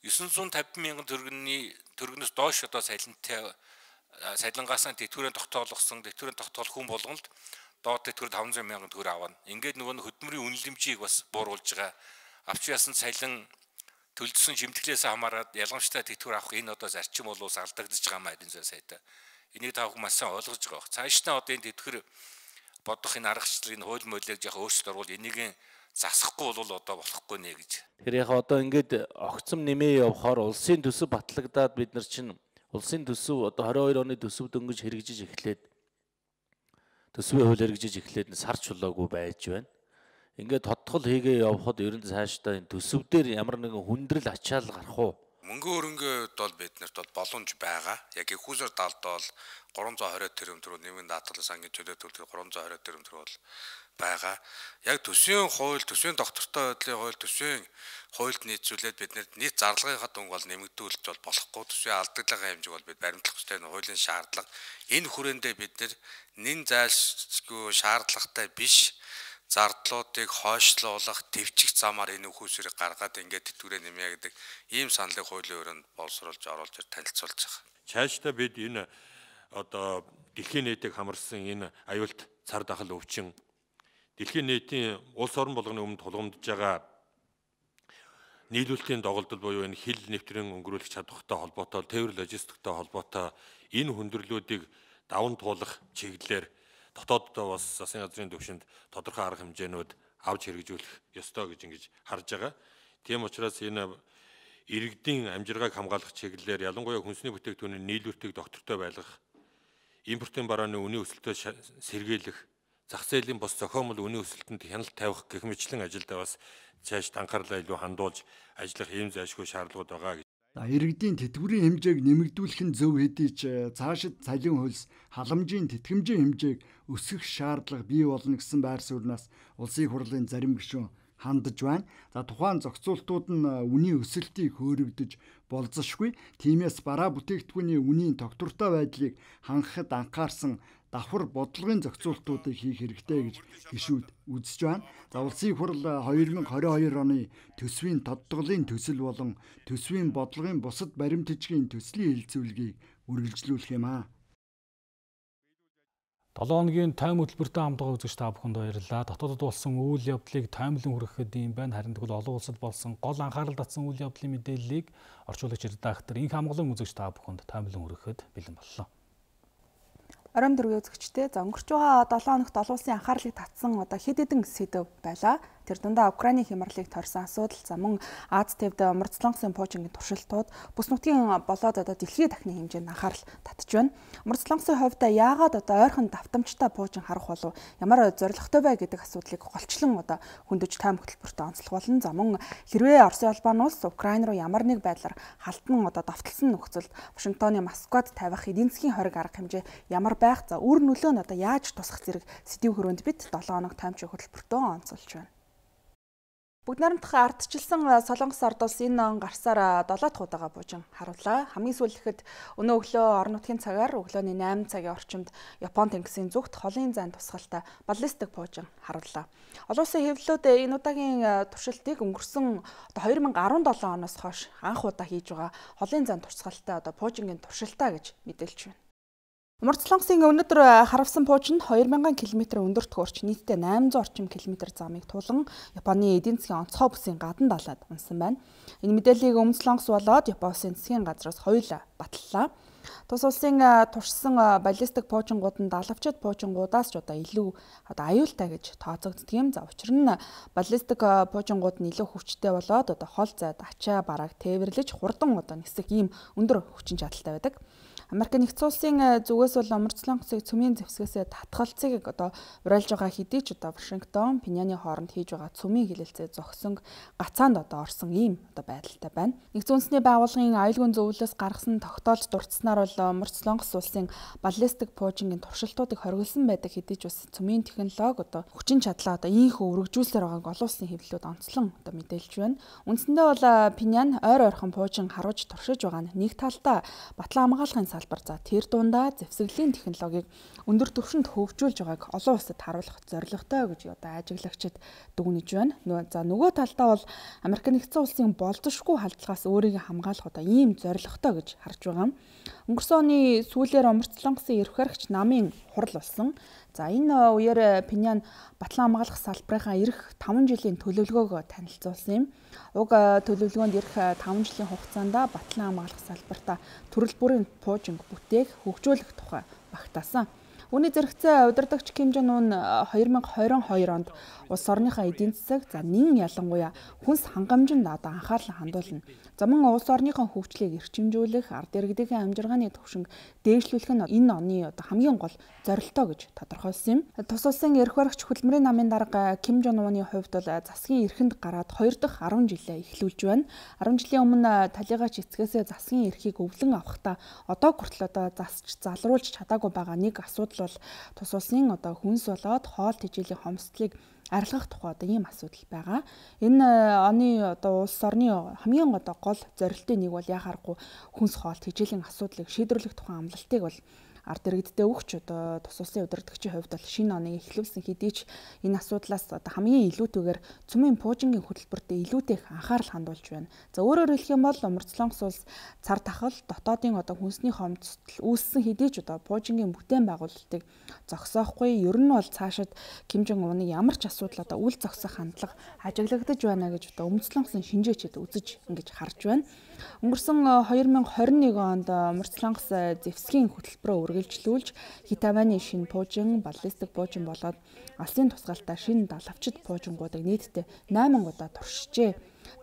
950 мянган төгрөгнөөс доош одоо цалинтай цалингаас нь тэтгэврийн тогтоолох хүн болгонд доод төгтөр 500 мянган төгрөг авна. Ингээд нөгөө хөдөлмөрийн үнэлэмжийг бас бууруулж байгаа. Авч яасан цалин төлөвлөсөн шимтгэлээс хамаарат ялгамжтай тэтгэвэр авах энэ одоо зарчим бол алдагдаж байгаа маа эдийн засгийн сайтай. Энийг та бүхэн маш сайн ойлгож байгаа. Цаашдаа одоо энэ тэтгэвэр бодох энэ аргачлалыг хууль молийг яг өөрчлөлт оруулаад энийг засахгүй бол одоо болохгүй нэ гэж. Тэгэхээр яг одоо ингээд огцом нэмээ явахаар улсын төсөв батлагдаад бид нар чинь улсын төсөв одоо 22 оны төсөв дөнгөж хэрэгжиж эхлээд төсвийн хууль хэрэгжиж эхлээд сар чулаагүй байж байна. Ингээд тодтгол хийгээ явхад ер нь цаашдаа энэ төсөв дээр ямар нэгэн хүндрэл ачаал гарах уу? Мөнгө хөрөнгөд бол биднэрт бол боломж байгаа. Яг их хүсэр талд бол 320 тэрбум төгрөг нэмийн даатгалын сангийн төлөө төлөх 320 тэрбум төгрөг бол байгаа. Яг төсвийн хууль, төсвийн доктортой байдлын хууль, төсвийн хуульд нийцүүлээд биднэрт нийт зарлагынхаа дүнг бол нэмэгдүүлж бол болохгүй. Төсвийн алдаглагын хэмжээг бол бид баримтлах ёстой нь хуулийн шаардлага. Энэ хүрээндээ бид нэн зайлшгүй шаардлагатай биш зардлуудыг хойшлуулах төвчих замаар энэ үхүүсрийг гаргаад ингээд тэтгэврээ нэмье гэдэг ийм саналыг хуулийн өрөөнд боловсруулж оруулж танилцуулж байгаа. Цаашдаа бид энэ одоо дэлхийн нийтийг хамарсан энэ аюулт цар тахал өвчин дэлхийн нийтийн улс орон болгоны өмнө тулгамдж байгаа нийлүүлэлтийн доголдол буюу энэ хил нэвтрэн өнгөрүүлэх чадвартай холбоотой, тээвэр логистиктэй холбоотой энэ хүндрэлүүдийг даван туулах чиглэлээр дотооддоо бас засгийн газрын түвшинд тодорхой арга хэмжээнүүд авч хэрэгжүүлэх ёстой гэж ингэж харж байгаа. Тийм учраас энэ иргэдийн амжиргааг хамгаалах чиглэлээр ялангуяа хүнсний бүтээгдэхүүний нийлүүртийг доктортой байлгах, импортын барааны үнийн өсөлтөө сэргийлэх, зах зээлийн бос зохиомжтой үнийн өсөлтөнд хяналт тавих гэх мэтлэн ажилдаа бас цааш анхаарлаа илүү хандуулж ажиллах ийм зайлшгүй шаардлагууд байгаа гэж. Иргэдийн тэтгэврийн хэмжээг нэмэгдүүлэх нь зөв хэдий ч цаашид цалин хөлс халамжийн тэтгэмжийн хэмжээг өсгөх шаардлага бий болно гэсэн байр сууриас улсын хурлын зарим гишүүн хандж байна. За тухайн зохицуултууд нь үнийн өсөлтийг хөөрөгдөж болзошгүй. Тиймээс бараа бүтээгдэхүүний үнийн тогтвортой байдлыг хангахад анхаарсан давхар бодлогын зохицуултуудыг хийх хэрэгтэй гэж гишүүд үзэж байна. За улсын хурл 2022 оны төсвийн тодтголын төсөл болон төсвийн бодлогын бусад баримт бичгийн төслийн хэлэлцүүлгийг үргэлжлүүлэх юм аа. 7 хоногийн тайм хөтөлбөртэй хамтдаа үзэгч та бүхэнд баярлалаа. Дотоодод болсон үйл явдлыг таймлан хүрэхэд юм байна. Харин тэгвэл олон улсад болсон гол анхаарал татсан үйл явдлын мэдээллийг орчуулагч редактор Инх хамглан үзэгч та бүхэнд таймлан хүрэхэд бэлэн боллоо. Оройн дөрвийн үзэгчтэй өнгөрч байгаа 7 хоногт олон улсын анхаарлыг татсан хэд хэдэн сэдэв байлаа. Тэр дундаа Украины хямралыг тойрсон асуудал, за мөн Аз тивд Умарцлангийн пуужингийн туршилтууд бүс нутгийн болоод дэлхийн дахны хэмжээнд анхаарал татж байна. Умарцлангийн хувьд яагаад ойрхон давтамжтай пуужин харах болов ямар зорилготой бай гэдэг асуудлыг голчлон хөндөж тайм хөтөлбөртөө онцлох болно. За мөн хэрвээ Оросын улбан улс Украин руу ямар нэг байдлаар халтан давталсан нөхцөлд Вашингтоны Москвад тавих эдийн засгийн хориг арга хэмжээ ямар байх, за үр нөлөө нь яаж тусах зэрэг сэдвийн хүрээнд бид 7 хоног таймч хөтөлбөртөө онцолж байна. Бүгд найрамдах ардчилсан Солонгос орд улс энэ он гарсаар 7 дахь удаага буужин харууллаа. Хамгийн сүүлдэхэд өнөө өглөө орон нутгийн цагаар өглөөний 8 цагийн орчимд Япон тэнгисийн зүгт холын зайн тусгалтай баллистик буужин харууллаа. Олон улсын хэвлэлүүд энэ удаагийн туршилтыг өнгөрсөн 2017 оноос хойш анх удаа хийж байгаа холын зайн тусгалтай буужингийн туршилтаа гэж мэдээлж байна. Умарцлангийн өнөөдөр харавсан пуужинд 2000 км өндөрт хүрч нийтдээ 800 орчим км замыг тулан Японы эдийн засгийн онцгой бүсийн гадна далайд унсан байна. Энэ мэдээллийг Өмнөслонгос болоод Японы засгийн газраас хоёулаа баталлаа. Тус улсын туршсан баллистик пуужингууд нь далавчид пуужингуудаас ч илүү аюултай гэж тооцогддог юм. За учир нь баллистик пуужингууд нь илүү хүчтэй болоод хол зайд ачаа барааг тээвэрлэж хурдан нисэх ийм өндөр хүчин чадалтай байдаг. Америк нэгдсэн улсын зүгээс бол Умарцлангосыг цөмийн зэвсгээс татгалцыг уриалж байгаа хэдий ч Вашингтон, Пиняны хооронд хийж байгаа цөмийн хилэлцээ зогсон гацаанд орсон ийм байдалтай байна. Нэгдсэн үндэсний байгууллагын аюулгүй зөвлөлөөс гаргасан тогтоолж дурдсанаар бол Умарцлангос улсын баллистик пуужингийн туршилтуудыг хориглосон байдаг хэдий ч бас цөмийн технологи хүчин чадлаа ийхүү өргөжүүлсээр байгааг олон улсын хэвлэлүүд онцлон мэдээлж байна. Үндсэндээ бол Пинян ойр ойрхон пуужин харуулж туршиж байгаа нь нэг талдаа батлан хамгаалахын салбар, за тэр дундаа зэвсэглийн технологиг өндөр түвшинд хөгжүүлж байгааг олон улсад харуулах зорилготой гэж ажиглагчид дүгнэж байна. За нөгөө талдаа бол Америк нэгдсэн улсын болзошгүй халдлагаас өөрийгөө хамгаалах ийм зорилготой гэж харж байгаа. Өнгөрсөн оны сүүлээр Умарцлангосын эрх баригч намын хурал болсон. За энэ үеэр Пинян батлан хамгаалах салбарынхаа эх 5 жилийн төлөвлөгөөг танилцуулсан юм. Уг төлөвлөгөөнд эх 5 жилийн хугацаанд батлан хамгаалах салбартаа төрөл бүрийн пуужинг бүтээх, хөгжүүлэх тухай багтаасан. Үүний зэрэгцээ удирдагч Ким Жон Ун 2022 онд улс орныхаа эдийн засаг, за нэн ялангуяа хүнс хангамжинд анхаарал хандуулна. За мөн улс орныхоо хөгжлийг эрчимжүүлэх, ард иргэдийн амжиргааны түвшинг дээшлүүлэх нь энэ оны хамгийн гол зорилтоо гэж тодорхойлсон юм. Тус улсын эрх баригч хөдөлмөрийн намын дарга Ким Жон Уны хувьд бол засгийн эрхэнд гараад 2 дахь 10 жилээ эхлүүлж байна. 10 жилийн өмнө талигаач эцгээсээ засгийн эрхийг өвлөн авахдаа одоо хүртэл засч залруулж чадаагүй байгаа нэг асуудал бол тус улсын хүнс болоод хоол тэжээлийн хомсдлыг арилгах тухай ийм асуудал байгаа. Энэ оны улс орны хамгийн гол зорилтын нэг бол яхаарахгүй хүнс хоол тэжээлийн асуудлыг шийдвэрлэх тухай амлалтыг бол ард иргэдтэй өгч тус улсын удирдагчийн хувьд бол шинэ оныг эхлүүлсэн хэдий ч энэ асуудлаас хамгийн илүүтэйгээр цөмийн пуужингийн хөтөлбөрт илүүтэй их анхаарал хандуулж байна. За өөрөөр хэлэх юм бол Умарцлонгос улс цар тахал дотоодын хүнсний хомсдол үүссэн хэдий ч пуужингийн бүтээн байгуулалтыг зогсоохгүй. Ер нь бол цаашид Ким Жон Уны ямар ч асуудал үл зогсох хандлага ажиглагдаж байна гэж Умарцлонгосын шинжээчид үзэж ингэж харж байна. Өнгөрсөн 2021 онд Умарцлонгос зэвсгийн хөтөлбөрөөр үргэлжлүүлж Хитаваны шинэ пуужин, баллистик пуужин болоод алсын тусгаалтай шинэ далавчид пуужингуудыг нийтдээ 8 удаа туршижээ.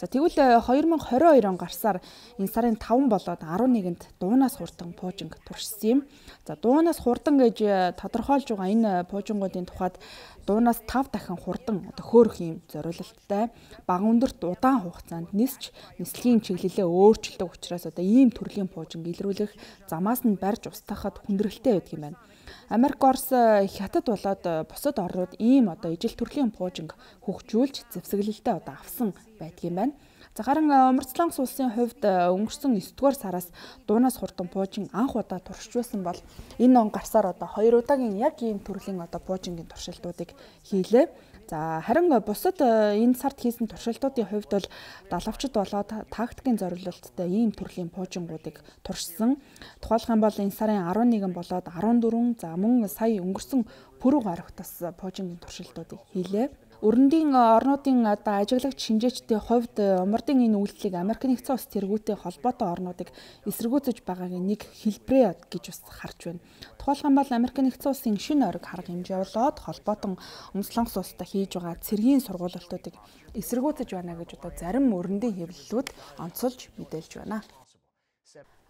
За тэгвэл 2022 он гарсаар энэ сарын 5 болоод 11-нд дуунаас хурдан пуужинг туршсан юм. За дуунаас хурдан гэж тодорхойлж байгаа энэ пуужингуудын тухайд дуунаас 5 дахин хурдан хөөрөх юм зориулалттай бага өндөрт удаан хугацаанд нисч нислэгийн чиглэлээ өөрчилдөг учраас ийм төрлийн пуужинг илрүүлэх замаас нь барьж устгахад хүндрэлтэй байдаг юм байна. Америк, Орос, Хятад болоод бусад орнууд ийм ижил төрлийн пуужинг хөгжүүлж зэвсэглэлтэй авсан байдаг юм байна. За харин Умарцлонгос улсын хувьд өнгөрсөн 9-р сараас дуунаас хурдан пуужин анх удаа туршиж байсан бол энэ он гарсаар 2 удаагийн яг ийм төрлийн пуужингийн туршилтуудыг хийлээ. За харин бусад энэ сард хийсэн туршилтуудын хувьд бол далавчид болоод тактикийн зориулалттай ийм төрлийн пуужингуудыг туршсан. Тухайлх юм бол энэ сарын 11 болоод 14 за мөн сая өнгөрсөн пүрэв гарагтас пуужингийн туршилтуудыг хийлээ. Өрөндийн орнуудын ажиглагч шинжээчдийн хувьд умардын энэ үйлдэлийг Америк нэгдсэн улс тэргүүтэй холбоотой орнуудыг эсэргүүцэж байгаагийн нэг хэлбэрээ гэж бас харж байна. Тухайлх юм бол Америк нэгдсэн улсын шинэ ориг харга хэмжээ болоод холбоотон Умарцлонгос улстай хийж байгаа цэргийн сургуулиудыг эсэргүүцэж байна гэж зарим өрөндийн хэвлэлүүд онцолж мэдээлж байна.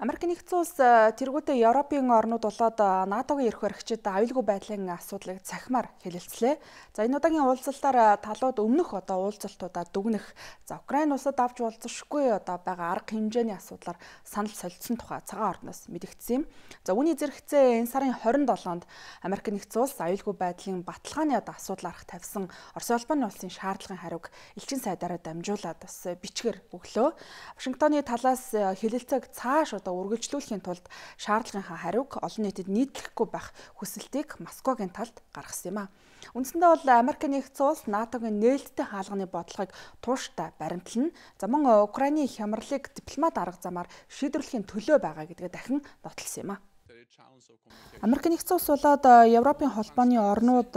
Америк нэгдсэн улс тэргүүтэй Европын орнууд болоод НАТОгийн эрх баригчид аюулгүй байдлын асуудлыг цахимаар хэлэлцлээ. За энэ удаагийн уулзалтаар талууд өмнөх уулзалтуудаа дүгнэх, за Украин улсад авч уулзшгүй байгаа арга хэмжээний асуудлаар санал солилцсон тухай цагаан орноос мэдэгдсэн юм. За үүний зэрэгцээ энэ сарын 27-нд Америк нэгдсэн улс аюулгүй байдлын баталгааны асуудал арга тавьсан Орос улбаны улсын шаардлагын хариуг элчин сайдаараа дамжуулаад бас бичгээр өглөө. Вашингтоны талаас хэлэлцээг цааш үргэлжлүүлэхийн тулд шаардлагынхаа хариуг олон нийтэд нийтлэхгүй байх хүсэлтийг Москвагийн талд гаргасан юм а. Үндсэндээ бол Америк нэгдсэн улс НАТОгийн нээлттэй хаалганы бодлогыг тууштай баримтлана. За мөн Украины хямралыг дипломат арга замаар шийдвэрлэхийн төлөө байгаа гэдгээ дахин нотолсон юм а. Америк нэгдсэн улс болоод Европын холбооны орнууд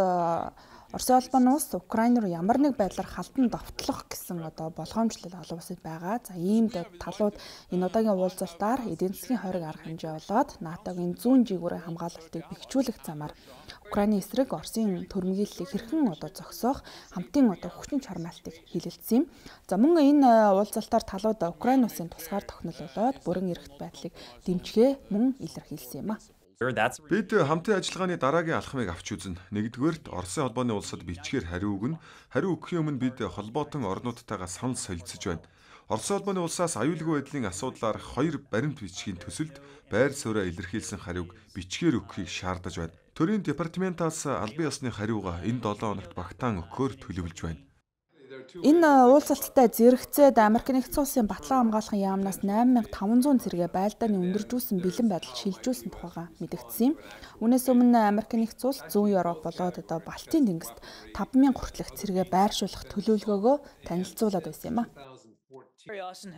Орос улбаны улс Украин руу ямар нэг байдлаар халдан довтлох гэсэн болгоомжлол олон улсад байгаа. За ийм талууд энэ удаагийн уулзалтаар эдийн засгийн хориг арга хэмжээ болоод НАТОгийн зүүн жигүүрийн хамгаалалтыг бэхжүүлэх замаар Украины эсрэг Оросын төрмгийллийг хэрхэн зогсоох хамтын хүчин чармаалтыг хэлэлцсэн юм. За мөн энэ уулзалтаар талууд Украин улсын тусгаар тогтнол болоод бүрэн эрхт байдлыг дэмжихээ мөн илэрхийлсэн юм а. Бид хамтын ажиллагааны дараагийн алхмыг авч үзнэ. Нэгдүгээрт Оросын холбооны улсад бичгээр хариу өгнө. Хариу өгөхийн өмнө бид холбоотон орнуудтайгаа санал солилцож байна. Оросын холбооны улсаас аюулгүй байдлын асуудлаар 2 баримт бичгийн төсөлд байр суурьаа илэрхийлсэн хариуг бичгээр өгөхийг шаардаж байна. Төрийн департаментаас албан ёсны хариуга энэ 7 хоногт багтаан өгөхөөр төлөвлөж байна. Энэ уулзалттай зэрэгцээд Америк нэгдсэн улсын баталгаа хамгаалахын яамнаас 8500 зэрэгэ байлдааны өндөржүүлсэн бэлэн байдал шилжүүлсэн тухайга мэдэгдсэн юм. Үүнээс өмнө Америк нэгдсэн улс зүүн Европ болоод Балтийн тэнгист 5000 хүртэлх зэрэгэ байршуулах төлөвлөгөөгөө танилцуулаад байсан юм а.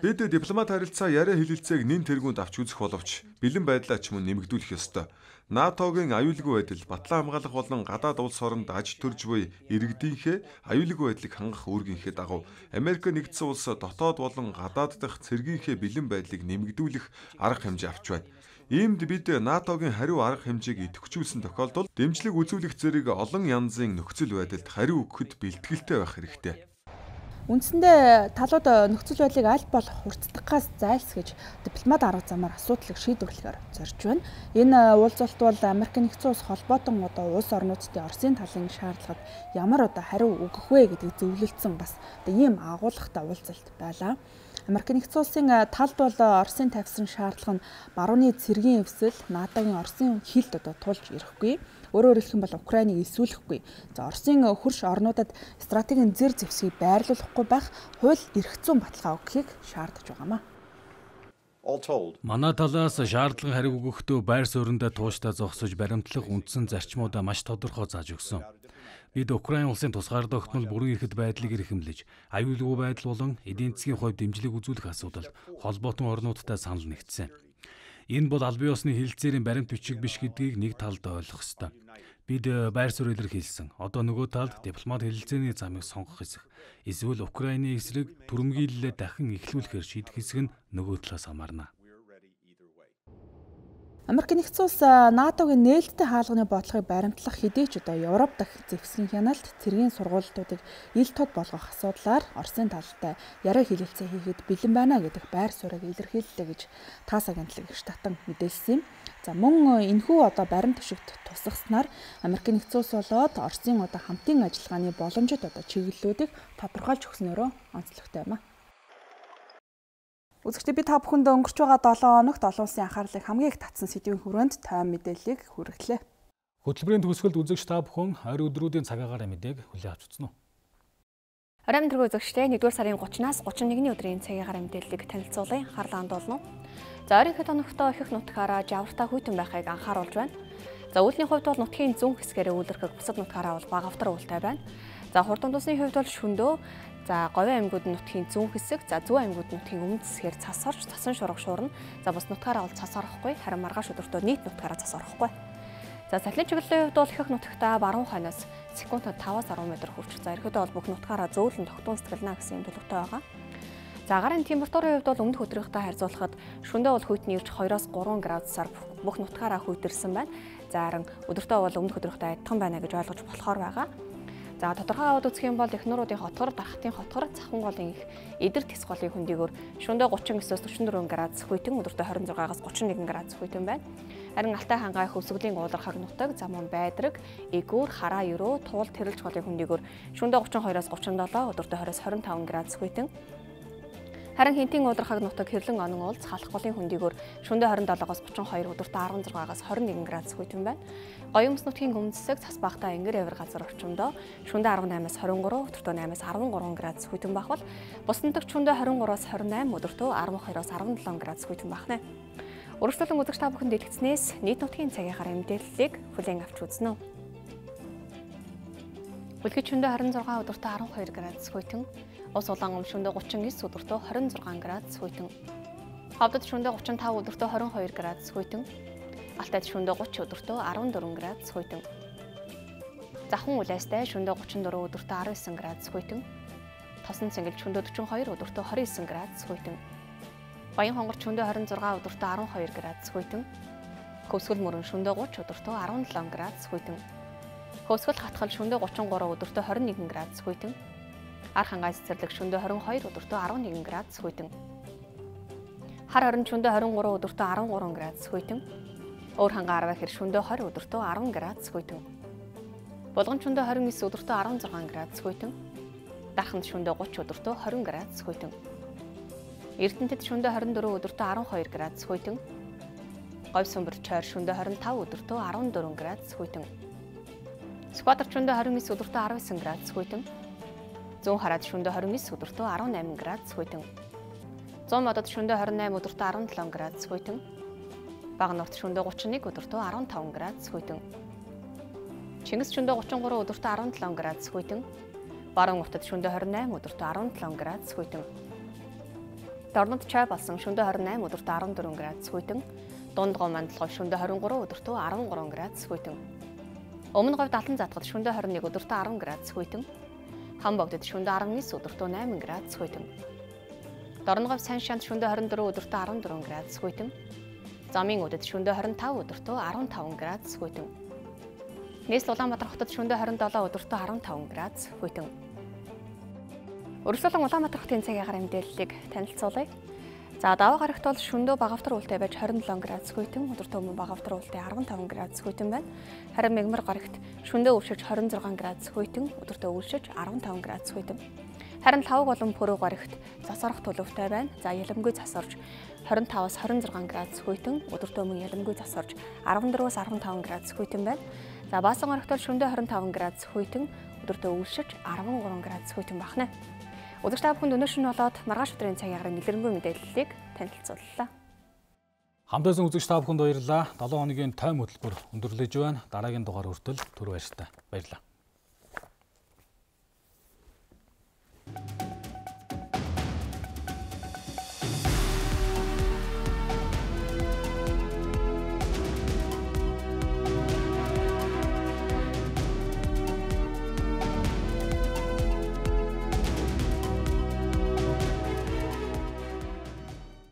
Бид дипломат харилцаа яриа хэлэлцээг нэн тэргуунд авч үзэх боловч бэлэн байдлаа ч мөн нэмэгдүүлэх ёстой. НАТОгийн аюулгүй байдал, батлан хамгаалах болон гадаад улс оронд аж төрж буй иргэдийнхээ аюулгүй байдлыг хангах үүргийнхээ дагуу Америк нэгдсэн улс дотоод болон гадаад дахь цэргийнхээ бэлэн байдлыг нэмэгдүүлэх арга хэмжээ авч байна. Иймд бид НАТОгийн хариу арга хэмжээг идэвхжүүлсэн тохиолдолд дэмжлэг үзүүлэх зэрэг олон янзын нөхцөл байдалд хариу өгөхөд бэлтгэлтэй байх хэрэгтэй. Үндсэндээ талууд нөхцөл байдлыг аль болох хурцдахаас зайлсхийж дипломат арга замаар асуудлыг шийдвэрлэхээр зорж байна. Энэ уулзалт бол Америк нэгдсэн улс холбоотон улс орнуудын Оросын талын шаардлагад ямар хариу өгөх вэ гэдгийг зөвлөлдсөн бас ийм агуулгатай уулзалт байлаа. Америк нэгдсэн улсын талд бол Оросын тавьсан шаардлага нь барууны цэргийн эвсэл НАТОгийн Оросын хилд тулж ирэхгүй. Өөрөөр хэлэх юм бол Украиныг эсвүүлэхгүй. За Оросын хөрш орнуудад стратегийн зэр зэвсгийг байрлуулахгүй байх хууль эрх зүйн баталгаа өгөхийг шаардаж байгаамаа. Манай талаас шаардлага хариу өгөхдөө байр сууриндаа тууштай зогсож баримтлах үндсэн зарчмуудаа маш тодорхой зааж өгсөн. Бид Украин улсын тусгаар тогтмол бүрэн эрхт байдлыг эрхэмлэж, аюулгүй байдал болон эдийн засгийн хувьд дэмжлэг үзүүлэх асуудалд холбоотон орнуудтай санал нэгдсэн. Энэ бол албан ёсны хэлэлцээрийн баримт бичиг биш гэдгийг нэг талд ойлгох ёстой. Бид байр суурь илэрхийлсэн. Одоо нөгөө талд дипломат хэлэлцээний замыг сонгох хэсэг. Эсвэл Украины эсрэг түрэмгийлэлээ дахин эхлүүлэхээр шийдэх хэсэг нь нөгөө талаас хамаарна. Америк нэгдсэн улс НАТОгийн нээлттэй хаалганы бодлогыг баримтлах хэдий ч одоо Европ дахь зэвсгийн хяналт цэргийн сургуулиудыг ил тод болгох асуудлаар Оросын талтай яриа хэлэлцээ хийхэд бэлэн байна гэдэг байр суурийг илэрхийллээ гэж ТАСС агентлаг их татан мэдээлсэн юм. За мөн энэхүү одоо баримт тушигт тусгаснаар Америк нэгдсэн улс болоод Оросын одоо хамтын ажиллагааны боломжит одоо чиглэлүүдийг тодорхойлж өгснөөрөө онцлогтой юм а. Үзэгчдээ би та бүхэнд өнгөрч байгаа 7 хоногт олон улсын анхаарлыг хамгийн их татсан сэдвийн хүрээнд тайван мэдээллийг хүргэлээ. Хөтөлбөрийн төгсгөлд үзэгч та бүхэн ойр өдрүүдийн цагаагаар мэдээг хүлээн авч үзсэн үү? Оройн дөрөв үзэгчдээ 1-р сарын 30-наас 31-ний өдрийн цагаагаар мэдээллийг танилцуулъя. Харлаан долно. За ойрын хэд хоногтоо ихэнх нутгаараа жавартай хүйтэн байхыг анхааруулж байна. За үүлний хувьд бол нутгийн зүүн хэсгээрээ үйлэрхэг бусад нутгаараа бол багавтар уултай байна. За хурдан тусны хувьд бол шөндөө за Говийн аймагуд нутгийн зүүн хэсэг, за зүүн аймагуд нутгийн өмнөд хэсгээр цас орж, цасан шурга шуурна. За бус нутгаараа бол цас орохгүй, харин маргааш өдөртөө нийт нутгаараа цас орохгүй. За салхины чиглэлийн хувьд бол ихэнх нутагтаа баруун хойноос секундэд 5-10 м хүрч, за ерөөдөө бол бүх нутгаараа зөөлөн тогтун сэтгэлнэ гэсэн төлөвтэй байгаа. За агарын температурын хувьд бол өмнөх өдрийнхтэй харьцуулахад шөнөдөө бол хүйтний ирж 2-3 градусаар бүх нутгаараа хүйтэрсэн байна. За харин өдөртөө бол өмнөх өдрийнхтэй адилхан байна гэж ойлгож болохоор байгаа. За тодорхой аваад үзэх юм бол эхнүүрүүдийн хотгор, дархтын хотгор, цахин голын их эдэр тис голын хөндийгөр шөнөдөө 39-44 градус хүйтэн, өдөртөө 26-аас 31 градус хүйтэн байна. Харин Алтай хангаай хөвсгөлийн уулархаг нутаг, замун байдраг, эгүүр, хараа ерөө, туул тэрэлж голын хөндийгөр шөнөдөө 32-аас 37, өдөртөө 20-25 градус хүйтэн. Харин Хинтийн уулархаг нутаг Хэрлэн онон уулз халах голын хөндийгөр шөнөдөө 27-аас 32, өдөртөө 16-аас 21 градус хүйтэн байна. Гоёмс нутгийн өмнөд хэсэг цас багтаа энгэр эвэр газар орчимдоо шөнөдөө 18-аас 23, өдөртөө 8-аас 13 градус хүйтэн байх бол бус нутагт шөнөдөө 23-аас 28, өдөртөө 12-оос 17 градус хүйтэн байна. Өргөжлөлөн үзэгч та бүхэнд дэлгэцнээс нийт нутгийн цагийнхаар мэдээллийг хүлээн авч үзнэ. Үлгэж шөнөдөө 26, өдөртөө 12 градус хүйтэн. Ус улаан шөнөдөө 39, өдөртөө 26 градус хүйтэн. Хавдад шөнөдөө 35, өдөртөө 22 градус хүйтэн. Алтайд шөнөдөө 30, өдөртөө 14 градус хүйтэн. Захан үлээстэй шөнөдөө 34, өдөртөө 19 градус хүйтэн. Тосон цэнгэл шөнөдөө 42, өдөртөө 29 градус хүйтэн. Баян хонгор шөнөдөө 26, өдөртөө 12 градус хүйтэн. Хөвсгөл мөрөн шөнөдөө 30, өдөртөө 17 градус хүйтэн. Хөвсгөл хатгал шөнөдөө 33, өдөртөө 21 градус хүйтэн. Ар хангай цэцэрлэг шөнөдөө 22, өдөртөө 11 градус хүйтэн. Хар хорин шөнөдөө 23, өдөртөө 13 градус хүйтэн. Өөр хангаа арваа хэр шөнөдөө 20, өдөртөө 10 градус хүйтэн. Булган шөнөдөө 29, өдөртөө 16 градус хүйтэн. Дарханд шөнөдөө 30, өдөртөө 20 градус хүйтэн. Эрдэнэтэд шөнөдөө 24, өдөртөө 12 градус хүйтэн. Говь сүмбэр чойр шөнөдөө 25, өдөртөө 14 градус хүйтэн. Скватер шөнөдөө 29, өдөртөө 19 градус хүйтэн. Зүүн хараад шөнөдөө 29, өдөртөө 18 градус хүйтэн. Зүүн модод шөнөдөө 28, өдөртөө 17 градус хүйтэн. Бага нурт шөнөдөө 31, өдөртөө 15 градус хүйтэн. Чингис шөнөдөө 33, өдөртөө 17 градус хүйтэн. Баруун уртад шөнөдөө 28, өдөртөө 17 градус хүйтэн. Дорнод чай болсон шөнөдөө 28, өдөртөө 14 градус хүйтэн. Дунд гоо мандалгой шөнөдөө 23, өдөртөө 13 градус хүйтэн. Өмнө говь далан задгад шөнөдөө 21, өдөртөө 10 градус хүйтэн. Хам богдод шөнөдөө 19, өдөртөө 8 градус хүйтэн. Дорн говь сайн шанд шөнөдөө 24, өдөртөө 14 градус хүйтэн. Замын өдөд шөнөдөө 25, өдөртөө 15 градус хүйтэн. Нийслэл Улаанбаатар хотод шөнөдөө 27, өдөртөө 15 градус хүйтэн. Өргөжлөлөн Улаанбаатар хотын цагаагаар мэдээллийг танилцуулъя. За даваа гарагт бол шөнөдөө багавтар уултай байж 27 градус хүйтэн, өдөртөө мөн багавтар уултай 15 градус хүйтэн байна. Харин мегмар гарагт шөнөдөө өвшөж 26 градус хүйтэн, өдөртөө өвшөж 15 градус хүйтэн. Харин лавг болон пүрэв гарагт засарах төлөвтэй байна. За ялимгүй засарж 25-аас 26 градус хүйтэн, өдөртөө мөн ялимгүй засарж 14-аас 15 градус хүйтэн байна. За Баасан орогтол шөнөдөө 25 градус хүйтэн, өдөртөө өвлшөж 13 градус хүйтэн бахна. Өдөрт та бүхэнд өнөөшн болоод маргааш өдрийн цагийн агаар нэлэрэнгүй мэдээллийг танилцууллаа. Хамтдаа үзэгч та бүхэнд баярлалаа. 7 хоногийн тойм хөтөлбөр өндөрлөж байна. Дараагийн дугаар хүртэл түр баяртай. Баярлалаа.